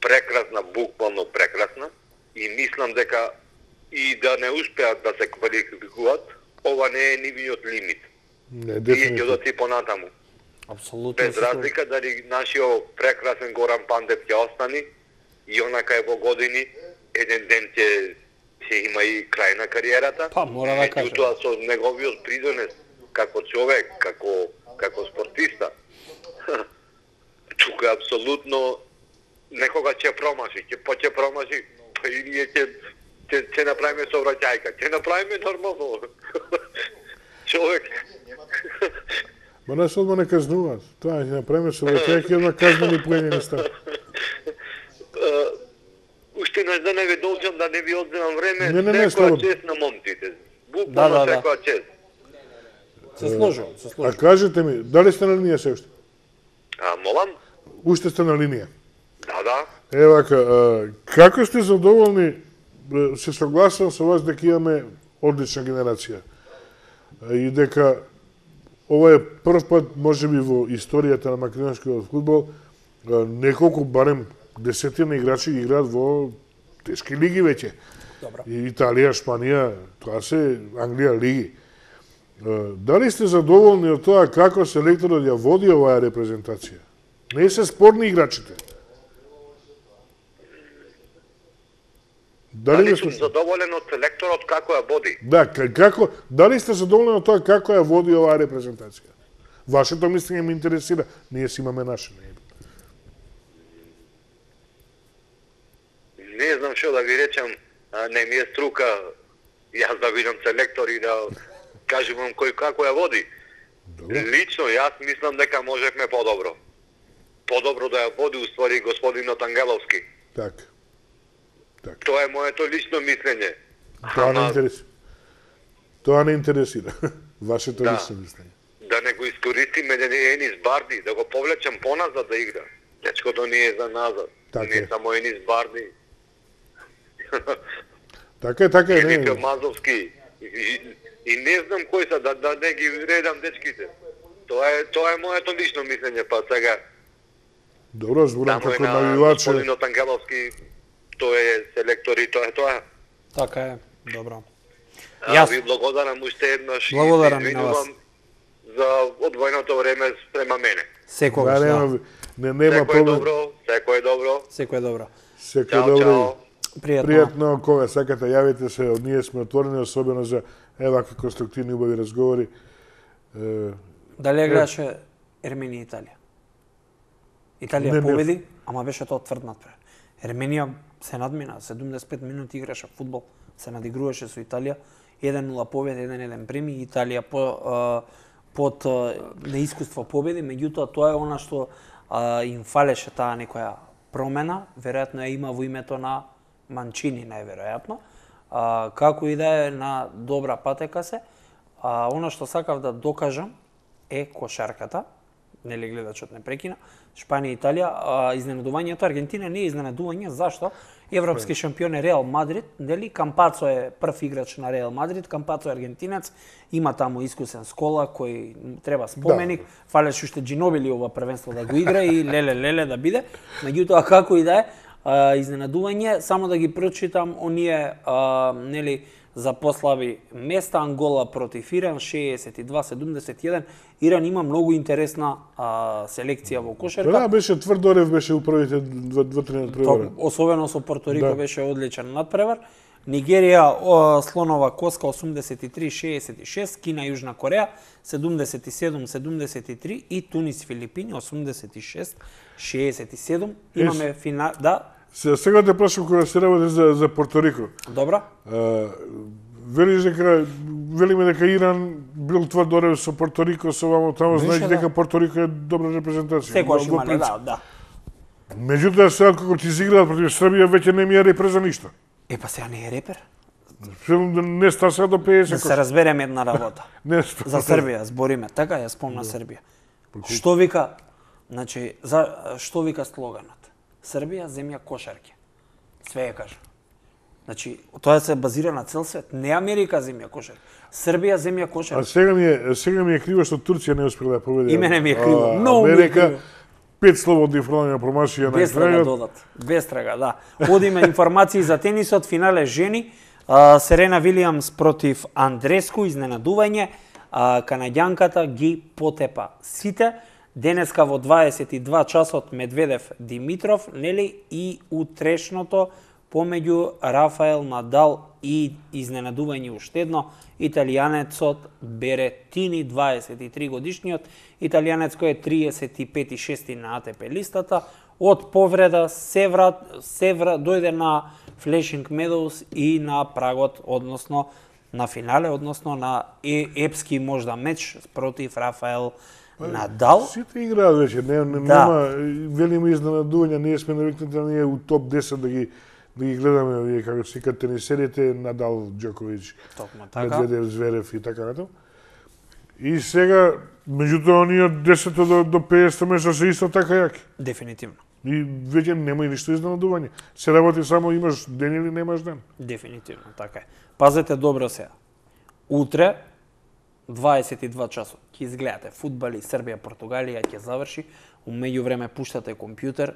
прекрасна, буквално прекрасна, и мислам дека и да не успеат да се квалификуваат, ова не е нивниот лимит. Не, Тие ќе дефинитивно. одат и понатаму. Апсолутно. Без разлика дали нашиот прекрасен Горан Пандев ќе остани и онака е во години, еден ден ќе ќе има и крај на кариерата. Па, мора да кажем. Меѓутоа со неговиот придонес како човек, како како спортиста, тука апсолутно некога ќе промаши, ќе поче промаши, и ние ќе ќе ќе направиме совраќајка, ќе направиме нормално. Човек. Ма нас одма не казнуваат. Тоа ќе направиме со враќајќи одма казнени поедини став. Уште еднаш да не ви должам, да не ви одземам време, Не, не, не, секоја слободно. чест на момците. Да, Буквално да, да. секоја чест. Се сложувам, се А сложувам. кажете ми, дали сте на линија се уште? А, молам? Уште сте на линија. Да, да. Е, вака, а, како сте задоволни, бе, се согласувам со вас дека имаме одлична генерација. А, И дека ова е прв пат, можеби во историјата на македонскиот фудбал, а, неколку, барем десетина играчи играат во тешки лиги веќе. Добро. И Италија, Шпанија, тоа се Англија лиги. А, Дали сте задоволни од тоа како селекторот ја води оваа репрезентација? Не се спорни играчите. Дали Дали ме сум слушате? задоволен од селекторот како ја води? Да, к- како, дали сте задоволни од тоа како ја води оваа репрезентација? Вашето мислење ме интересира. Ние си имаме наше. Не. Не знам што да ви речам, а, не ми е струка јас да видам селектор и да кажем вам кој како ја води. Добро. Лично јас мислам дека можевме подобро. Подобро да ја води уствари господинот Ангеловски. Така. Така. Тоа е моето лично мислење. Тоа не Ама, интересира. Тоа не интересира. Вашето Да. лично мислење. да не го искористиме Енис Барди, да го повлечем поназад да игра. Дечкото не е за назад. Така не е. само Енис Барди. Така е, така е. Филипе Не, Мазовски. И, и, и не знам кои са, да, да не ги редам дечките. Тоа е, тоа е моето лично мислење, па сега. добро, зборам Тамо е како на навиваче. господинот Ангеловски, тој е селектор и тоа е тоа. Така е, добро. А, Јас- ви благодарам уште еднаш и Благодарам се и на вас. извинувам за одвоеното време спрема мене. Секогаш, Да, да. нема, не, нема Секој е проблем. добро, секој е добро. Секој е добро. Секој Чао, добро. чао. Пријатно. Пријатно, кога сакате, јавите се, ние сме отворени, особено за евака конструктивни убави разговори. Е, Дали ја гледаше Ерменија и Италија? Италија Не, не. победи, ама беше тоа тврд надпревар. Ерменија се надмина, седумдесет и пет минути играше фудбал, се надигруваше со Италија, еден нула победа, еден еден прими, Италија по, а, под а, неискуство победи, меѓутоа тоа е она што а, им фалеше таа некоја промена, веројатно ја има во името на Манчини, најверојатно. А, како и да е, на добра патека се. А, она што сакав да докажам е кошарката, нели гледачот не прекина, Шпанија и Италија, а, изненадувањето Аргентина не е изненадување, зашто? Европски шампион е Реал Мадрид, нели Кампацо е прв играч на Реал Мадрид, Кампацо е аргентинец, има таму искусен Скола кој треба споменик, да. Фалеше уште Джинобили ова првенство да го игра и леле леле да биде. Меѓутоа како и да е, а, изненадување, само да ги прочитам оние а, нели за послаби места. Ангола против Иран шеесет и два седумдесет и еден. Иран има многу интересна а, селекција во кошарка. Да, беше тврдорев, беше у првите два-три надпревара. Особено со Порто Рико Да. беше одличен надпревар. Нигерија, о, слонова коска осумдесет и три шеесет и шест, Кина Јужна Кореја седумдесет и седум седумдесет и три и Тунис Филипини осумдесет и шест шеесет и седум. Имаме финал, да. Се, сега те прашам кога се работи за за Порторико. Добра. А, велиш дека велиме дека Иран бил тврдорев со Порторико, со вамо таму, знаеш да. дека Порторико е добра репрезентација. Секогаш Во имале, принцип. да, да. Меѓутоа сега кога ти изиграат против Србија веќе не ми е репре за ништо. Е, па сега не е репер. Не ста сега до педесет. Да се разбереме една работа. Не ста. За Србија збориме, така ја спомна Србија. Што вика, значи, за што вика слоганот? Србија земја кошарки. Све ја кажа. Значи, тоа се базира на цел свет, не Америка земја кошарки. Србија земја А кошарки. сега ми е сега ми е криво што Турција не успела да победи. И мене ми е криво, А, многу ми е Америка, криво. пет слободни фрлања промашија на Без трага крајот. додат. Без трага, да. Одиме информации за тенисот, финале жени. А, Серена Вилијамс против Андреску, изненадување. А, канаѓанката ги потепа сите. Денеска во дваесет и два часот Медведев Димитров, нели, и утрешното помеѓу Рафаел Надал и изненадување уште едно, италијанецот Беретини, дваесет и три годишниот, италијанец кој е триесет и пет и шести на А Т П листата, од повреда се врат, се врат, дојде на Флешинг Медоус и на прагот, односно на финале, односно на е, епски можда меч против Рафаел Надал. Сите играат веќе, не, не, Да. нема велими изненадувања, ние сме навикнати да ние у топ десет да ги да ги гледаме овие како се кажат тенисерите, Надал, Џоковиќ, Токму така. Медведев, Зверев и така натаму. И сега меѓутоа оние од десет до до педесет место се исто така јаки. Дефинитивно. И веќе нема и ништо изненадување. Се работи само имаш ден или немаш ден. Дефинитивно, така е. Пазете добро сега. Утре, дваесет и два часот, ќе изгледате фудбали Србија, Португалија, ќе заврши. У меѓувреме пуштате компјутер,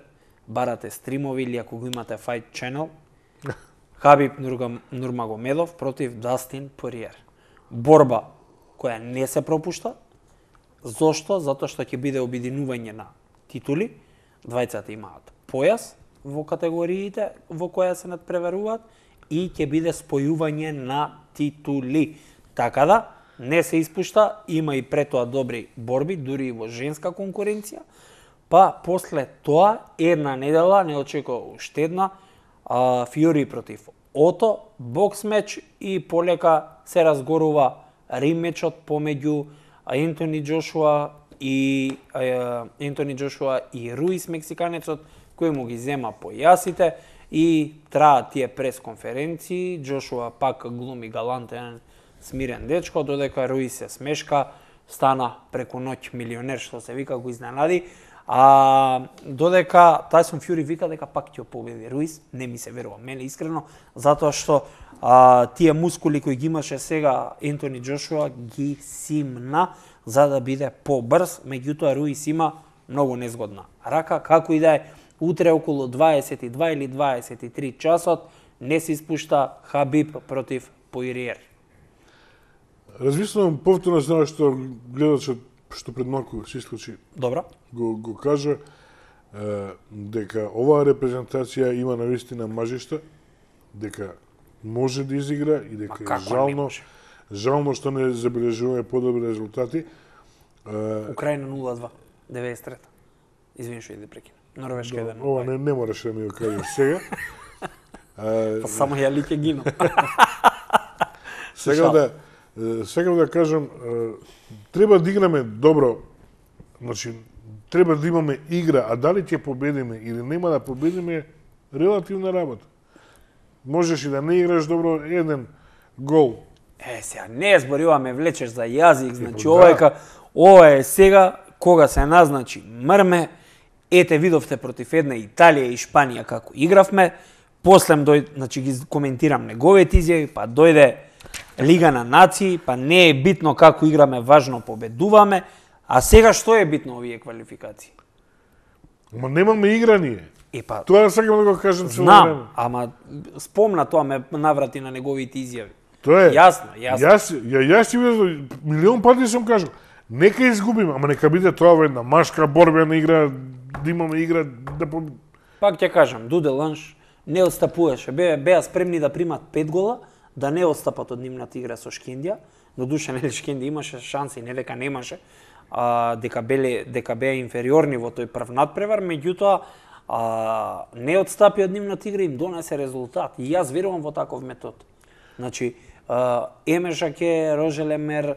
барате стримови или ако го имате Fight Channel, Хабиб Нурмагомедов против Дастин Пориер. Борба која не се пропушта. Зошто? Затоа што ќе биде обединување на титули. Двајцата имаат појас во категориите во која се надпреваруваат и ќе биде спојување на титули. Така да, не се испушта, има и пред тоа добри борби, дури и во женска конкуренција. Па, после тоа, една недела, не очекува уште една, а, Фјори против Ото, бокс меч и полека се разгорува римечот помеѓу Ентони Џошуа и а, Ентони Џошуа и Руис мексиканецот, кој му ги зема појасите и траат тие пресконференции. Џошуа пак глуми галантен, смирен дечко, додека Руис се смешка, стана преку ноќ милионер, што се вика, го изненади. А додека Тајсон Фјури вика дека пак ќе победи Руис, не ми се верува мене искрено, затоа што а, тие мускули кои ги имаше сега Ентони Џошуа ги симна за да биде побрз, меѓутоа Руис има многу незгодна рака, како и да е. Утре околу дваесет и два или дваесет и три часот не се испушта Хабиб против Поириер. Размислувам повторно за што гледачот што пред малку се исклучи. Добро. Го, го кажа е, дека оваа репрезентација има навистина мажишта, дека може да изигра и дека е жално, жално што не забележуваме подобри резултати. Е, Украина нула два, деветдесет и трета. Извини што иде прекина. Норвешка еден. Ова не, не мораш да ми го кажеш сега. Па само ја ли ќе гину. Сега да сега да кажам, треба да играме добро, значи треба да имаме игра, а дали ќе победиме или нема да победиме, релативна работа. Можеш и да не играш добро, еден гол. Е, сега не зборуваме, влечеш за јазик, значи да. ова е ка, ова е сега кога се назначи мрме. Ете видовте против една Италија и Шпанија како игравме. После дојде, значи ги коментирам неговите изјави, па дојде Лига на нации, па не е битно како играме, важно победуваме. А сега што е битно овие квалификации? Ма немаме игра ние. Е па, Тоа сакам да го кажам цело знам, време. ама спомна тоа, ме наврати на неговите изјави. Тоа е. Јасно, јасно. Јас, ја, јас ти видам, милион пати сум кажал, нека изгубиме, ама нека биде тоа во една машка борбена игра, да имаме игра, да победиме. Пак ќе кажам, Дуде Ланш не отстапуваше. Беа, беа спремни да примат пет гола, да не отстапат од нивната игра со Шкендија. Додуше, нели, Шкендија имаше шанси, не дека немаше, а, дека, беле, дека беа инфериорни во тој прв надпревар, меѓутоа, а, не отстапи од нивната игра, им донесе резултат. И јас верувам во таков метод. Значи, Еме Жаке, Роже Лемер,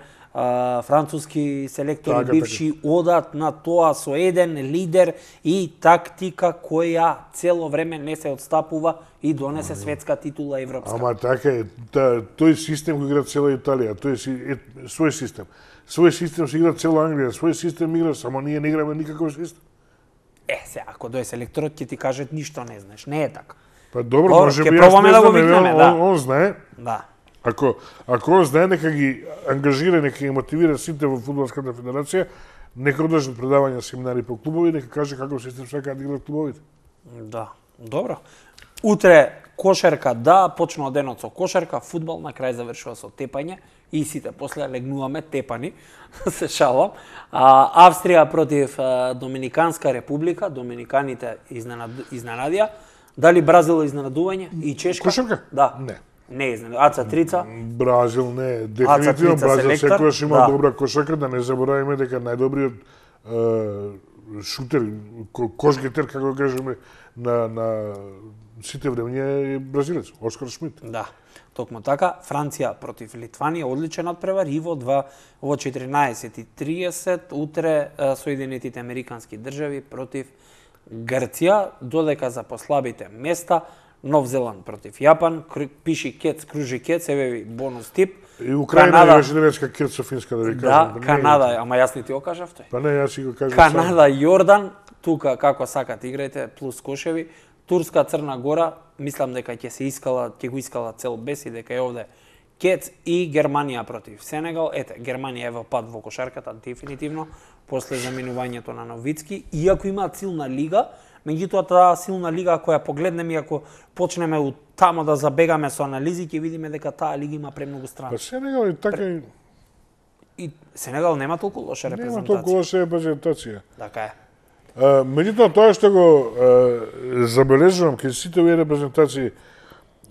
француски селектори така, бивши така. Одат на тоа со еден лидер и тактика која цело време не се отстапува и донесе светска титула европска. Ама така е, та, тој систем кој игра цела Италија, тој си е, свој систем. Свој систем се игра цела Англија, свој систем игра, само ние не играме никаков систем. Е, се, ако дојде селекторот ќе ти кажат ништо не знаеш, не е така. Па добро, Добро, може ќе би јас пробаме не да го знам, викнеме, он, да. он, он знае. Да. Ако ако он знае, нека ги ангажира, нека ги мотивира сите во фудбалската федерација, нека одржат предавања, семинари по клубови, нека каже каков систем сакаат да играат клубовите. Да, добро. Утре кошарка, да, почнува денот со кошарка, фудбал, на крај завршува со тепање и сите после легнуваме тепани, се шалам. А, Австрија против а, Доминиканска република, доминиканите изненад... изненадија. Дали Бразил изненадување и Чешка? Кошарка? Да. Не. Не изненадување. Аца Трица? Бразил не, дефинитивно Трица Бразил селектор, секогаш има да. добра кошарка, да не забораваме дека најдобриот е, шутер, кошгетер, како да кажеме, на, на сите времења е бразилец, Оскар Шмит. Да. Токму така, Франција против Литванија, одличен надпревар и во два во четиринаесет и триесет утре Соединетите Американски држави против Грција, додека за послабите места Нов Зеланд против Јапан, пиши кец, кружи кец, еве ви бонус тип. И Украина Канада... имаше немецка кец со финска, да ви кажам. Да, Канада, ама јас не ти го кажав тој. Па не, јас си го кажам. Канада, Јордан, тука како сакат играјте, плюс кошеви. Турска, Црна Гора, мислам дека ќе се искала, ќе го искала цел без и дека е овде кец, и Германија против Сенегал. Ете, Германија е во пад во кошарката дефинитивно после заминувањето на Новицки, иако имаат силна лига. Меѓутоа, таа силна лига, ако ја погледнеме и ако почнеме у тамо да забегаме со анализи, ќе видиме дека таа лига има премногу страни. Па Сенегал и така и... И Сенегал нема толку лоша репрезентација. Нема толку лоша репрезентација. Така е. А, меѓутоа, тоа што го а, забележувам кај сите овие репрезентации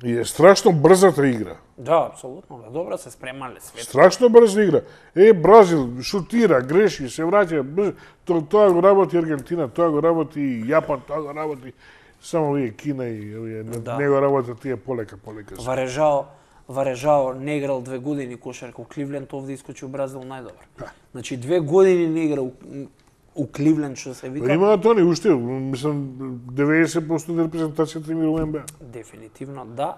е страшно брзата игра. Да, апсолутно, да, добро се спремале свет. Страшно брза игра. Е, Бразил шутира, греши, се враќа, брз... То, тоа го работи Аргентина, тоа го работи Јапан, тоа го работи само овие Кина и овие Да. не го работат тие полека, полека. Варежао, Варежао не играл две години кошарка у Кливленд, овде искочи у Бразил најдобар. Значи две години не игра у, у Кливленд, што се вика. Па имаат они уште, мислам, деветдесет проценти од репрезентацијата им игра у Н Б А. Дефинитивно, да.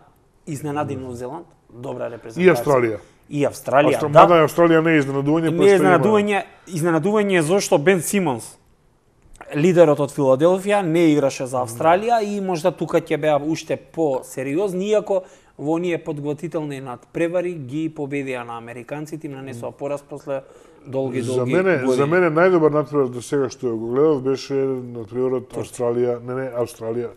Изненади Нов Зеланд, добра репрезентација. И Австралија. И Австралија, Австра... да. Мада Австралија не е изненадување, Не е изненадување, изненадување е зашто Бен Симонс, лидерот од Филаделфија, не играше за Австралија и можда тука ќе беа уште по-сериозни, иако во оние подготвителни надпревари ги победија на американците, им нанесоа пораз после долги, долги За мене, години. за мене најдобар надпревар до сега што го гледав беше надпреварот Австралија, не не Австралија,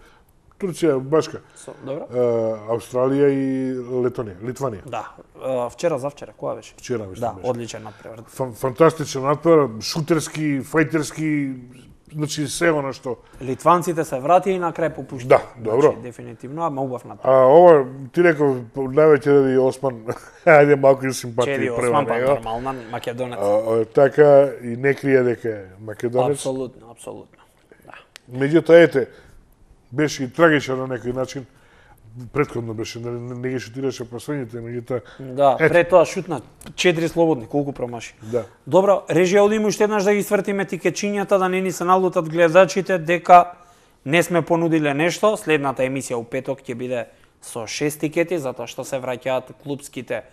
Турција, башка. Со, добро? Uh, Австралија и Летонија, Литванија. Да, а, вчера завчера, кога беше? Вчера мислам Да, беше. одличен надпревар. Фан, фантастичен надпревар, шутерски, фајтерски, значи се она што. Литванците се вратија и на крај попуштија. Да, добро. Значи, дефинитивно, ама убав надпревар. А ова ти реков највеќе ради Осман, ајде малку и симпатија Чеди према Осман, па него. нормална, македонец. А, а, така и не крие дека е македонец. Апсолутно, апсолутно. Да. Меѓутоа, ете, беше и трагичен на некој начин. Претходно беше, не, не ги шутираше последните, меѓутоа... Да, Ето. пред тоа шутна четири слободни, колку промаши. Да. Добро, режија одиме уште еднаш да ги свртиме тикечињата, да не ни се налутат гледачите дека не сме понудиле нешто. Следната емисија у петок ќе биде со шест тикети, затоа што се враќаат клубските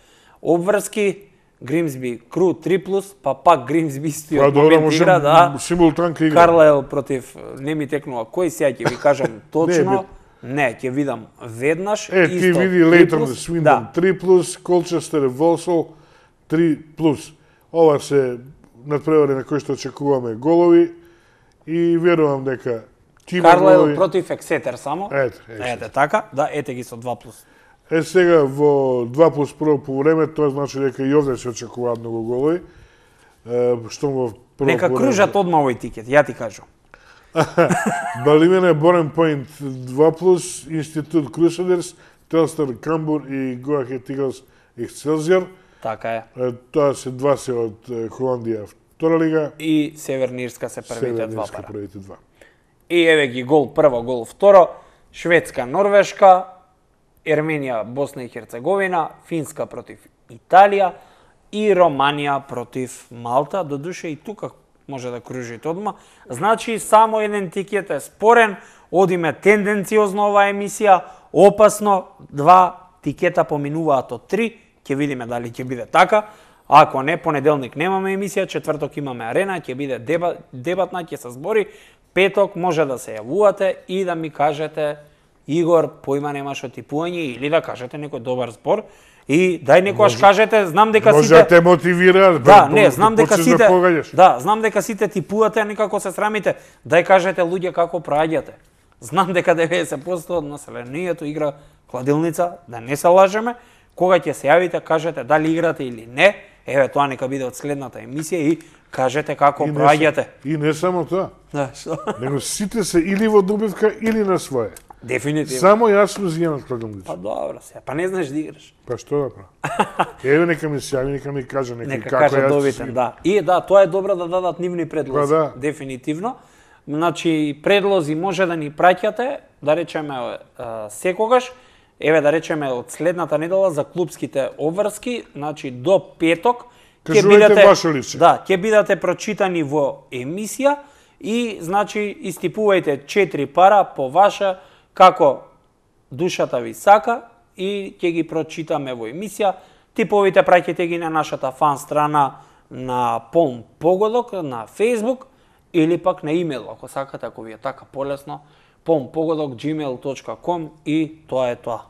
обврски. Гримсби Кру три плюс, па пак Гримсби истиот Па добро, момент игра, да. симултанка игра. Карлайл против, не ми текнува кој, сега ќе ви кажам точно. Не, Не, ќе видам веднаш. Е, ти исто, види три Лейтон плюс, Свиндон да. три плюс, Колчестер Волсол три плюс. Ова се надпревари на кои што очекуваме голови и верувам дека ќе има Карлайл голови. против Ексетер само. Ете, ете. Ете така, да, ете ги со два плюс. Е, сега во два плюс прво полувреме, тоа значи дека и овде се очекуваат многу голови. Е, што во прво Нека полувреме- кружат одма овој тикет, ја ти кажам. Балимене, Борен Пойнт два плюс, Институт Крусадерс, Телстар Камбур и Go Ahead Eagles Excelsior. Така е. Тоа се два се од Холандија втора лига. И Северна Ирска се првите два пара. првите два. И еве ги гол прво, гол второ. Шведска, Норвешка, Ерменија, Босна и Херцеговина, Финска против Италија и Романија против Малта. Додуше и тука може да кружите одма. Значи, само еден тикет е спорен, одиме тенденциозно оваа емисија, опасно, два тикета поминуваат од три, ќе видиме дали ќе биде така. Ако не, понеделник немаме емисија, четврток имаме арена, ќе биде дебат, дебатна, ќе се збори, петок може да се јавувате и да ми кажете Игор, поима немаш од типување, или да кажете некој добар збор. И дај некојаш кажете, знам дека сите... Може да те мотивира, да, не, знам дека сите... Да, да, знам дека сите типувате, некако се срамите. Дај кажете луѓе како проаѓате. Знам дека деветдесет проценти од населението игра кладилница, да не се лажеме. Кога ќе се јавите, кажете дали играте или не. Еве, тоа нека биде од следната емисија и кажете како проаѓате. И не само тоа. Да, што? Него сите се или во добивка или на свое. Дефинитивно. Само јас сум зијан од кладилница. Па добро се, па не знаеш да играш. Па што да правам? Еве нека ми се јави, нека ми каже некој нека како каже јас. добитен, да. И да, тоа е добро да дадат нивни предлози. Па да. Дефинитивно. Значи, предлози може да ни праќате, да речеме секогаш, еве да речеме од следната недела за клубските обврски, значи до петок ќе бидете ваше лице. Да, ќе бидете прочитани во емисија и значи истипувајте четири пара по ваша како душата ви сака и ќе ги прочитаме во емисија. Типовите праќате ги на нашата фан страна на Полн Погодок на Facebook или пак на имейл, ако сакате, ако ви е така полесно, полн погодок at gmail dot com и тоа е тоа.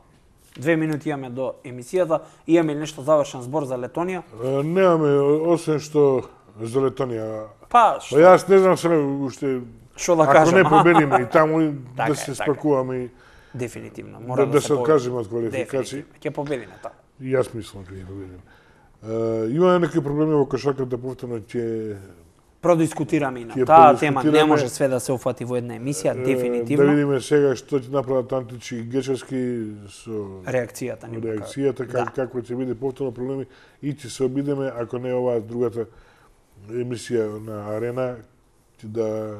Две минути имаме до емисијата. Имаме нешто завршен збор за Летонија? Е, немаме, освен што за Летонија. Па, што? Па јас не знам сега уште... Што да ако кажам? не победиме и таму Така да е, се така е. спакуваме и Дефинитивно. да, Мора да, да, се се откажеме од квалификација. Дефинитивно. Ќе победиме тоа. И јас мислам дека ќе победиме. Е, имаме некои проблеми во кошарката, повторно ќе Продискутираме и на Ќе таа тема, не продискутираме. може све да се уфати во една емисија, е, дефинитивно. да видиме сега што ќе направат Античи и Гечевски со Реакцијата ни реакцијата, как, Да. како ќе биде повторно проблеми и ќе се обидеме, ако не оваа другата емисија на Арена, ќе да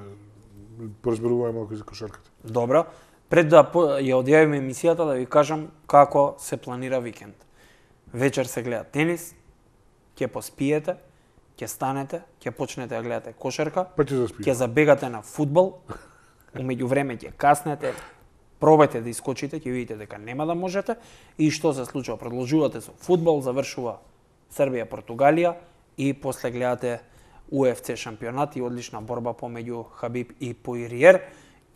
поразберуваме малку за кошарката. Добро. Пред да по- ја одјавиме емисијата, да ви кажам како се планира викенд. Вечер се гледа тенис, ќе поспиете, ќе станете, ќе почнете да гледате кошарка, Па ќе заспиме. ќе забегате на фудбал, умеѓу време ќе каснете, пробајте да искочите, ќе видите дека нема да можете и што се случува, продолжувате со фудбал, завршува Србија, Португалија и после гледате У Еф Це шампионат и одлична борба помеѓу Хабиб и Поириер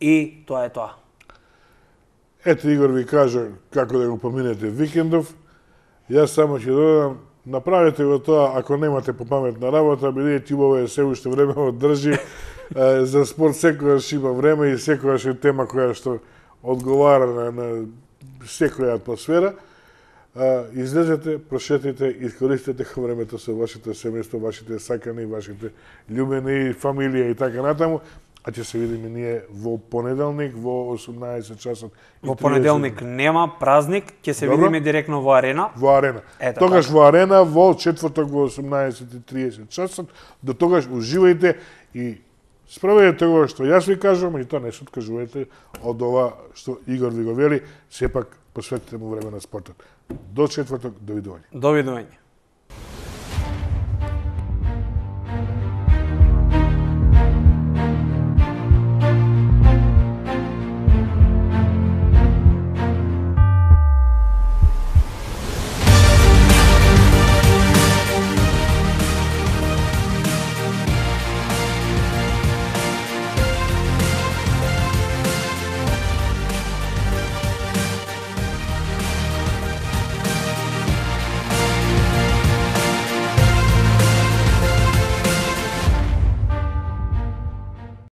и тоа е тоа. Ето Игор ви кажа како да го поминете викендов. Јас само ќе додам, направете го тоа ако немате по паметна работа, бидејќи ова е се уште време одржи. Е, за спорт секогаш има време и секогаш е тема која што одговара на, на секоја атмосфера. А, излезете, прошетите, искористете времето со вашите семејство, вашите сакани, вашите љубени, фамилија и така натаму. А ќе се видиме ние во понеделник во осумнаесет часот. Во понеделник нема празник, ќе се Добро. видиме директно во арена. Во арена. Ето, Тогаш така. во арена, во четврток во осумнаесет и тридесет часот. До тогаш уживајте и справете го што јас ви кажувам и тоа не се откажувајте од ова што Игор ви го вели, сепак посветете му време на спортот. До четврток, довидување. Довидување.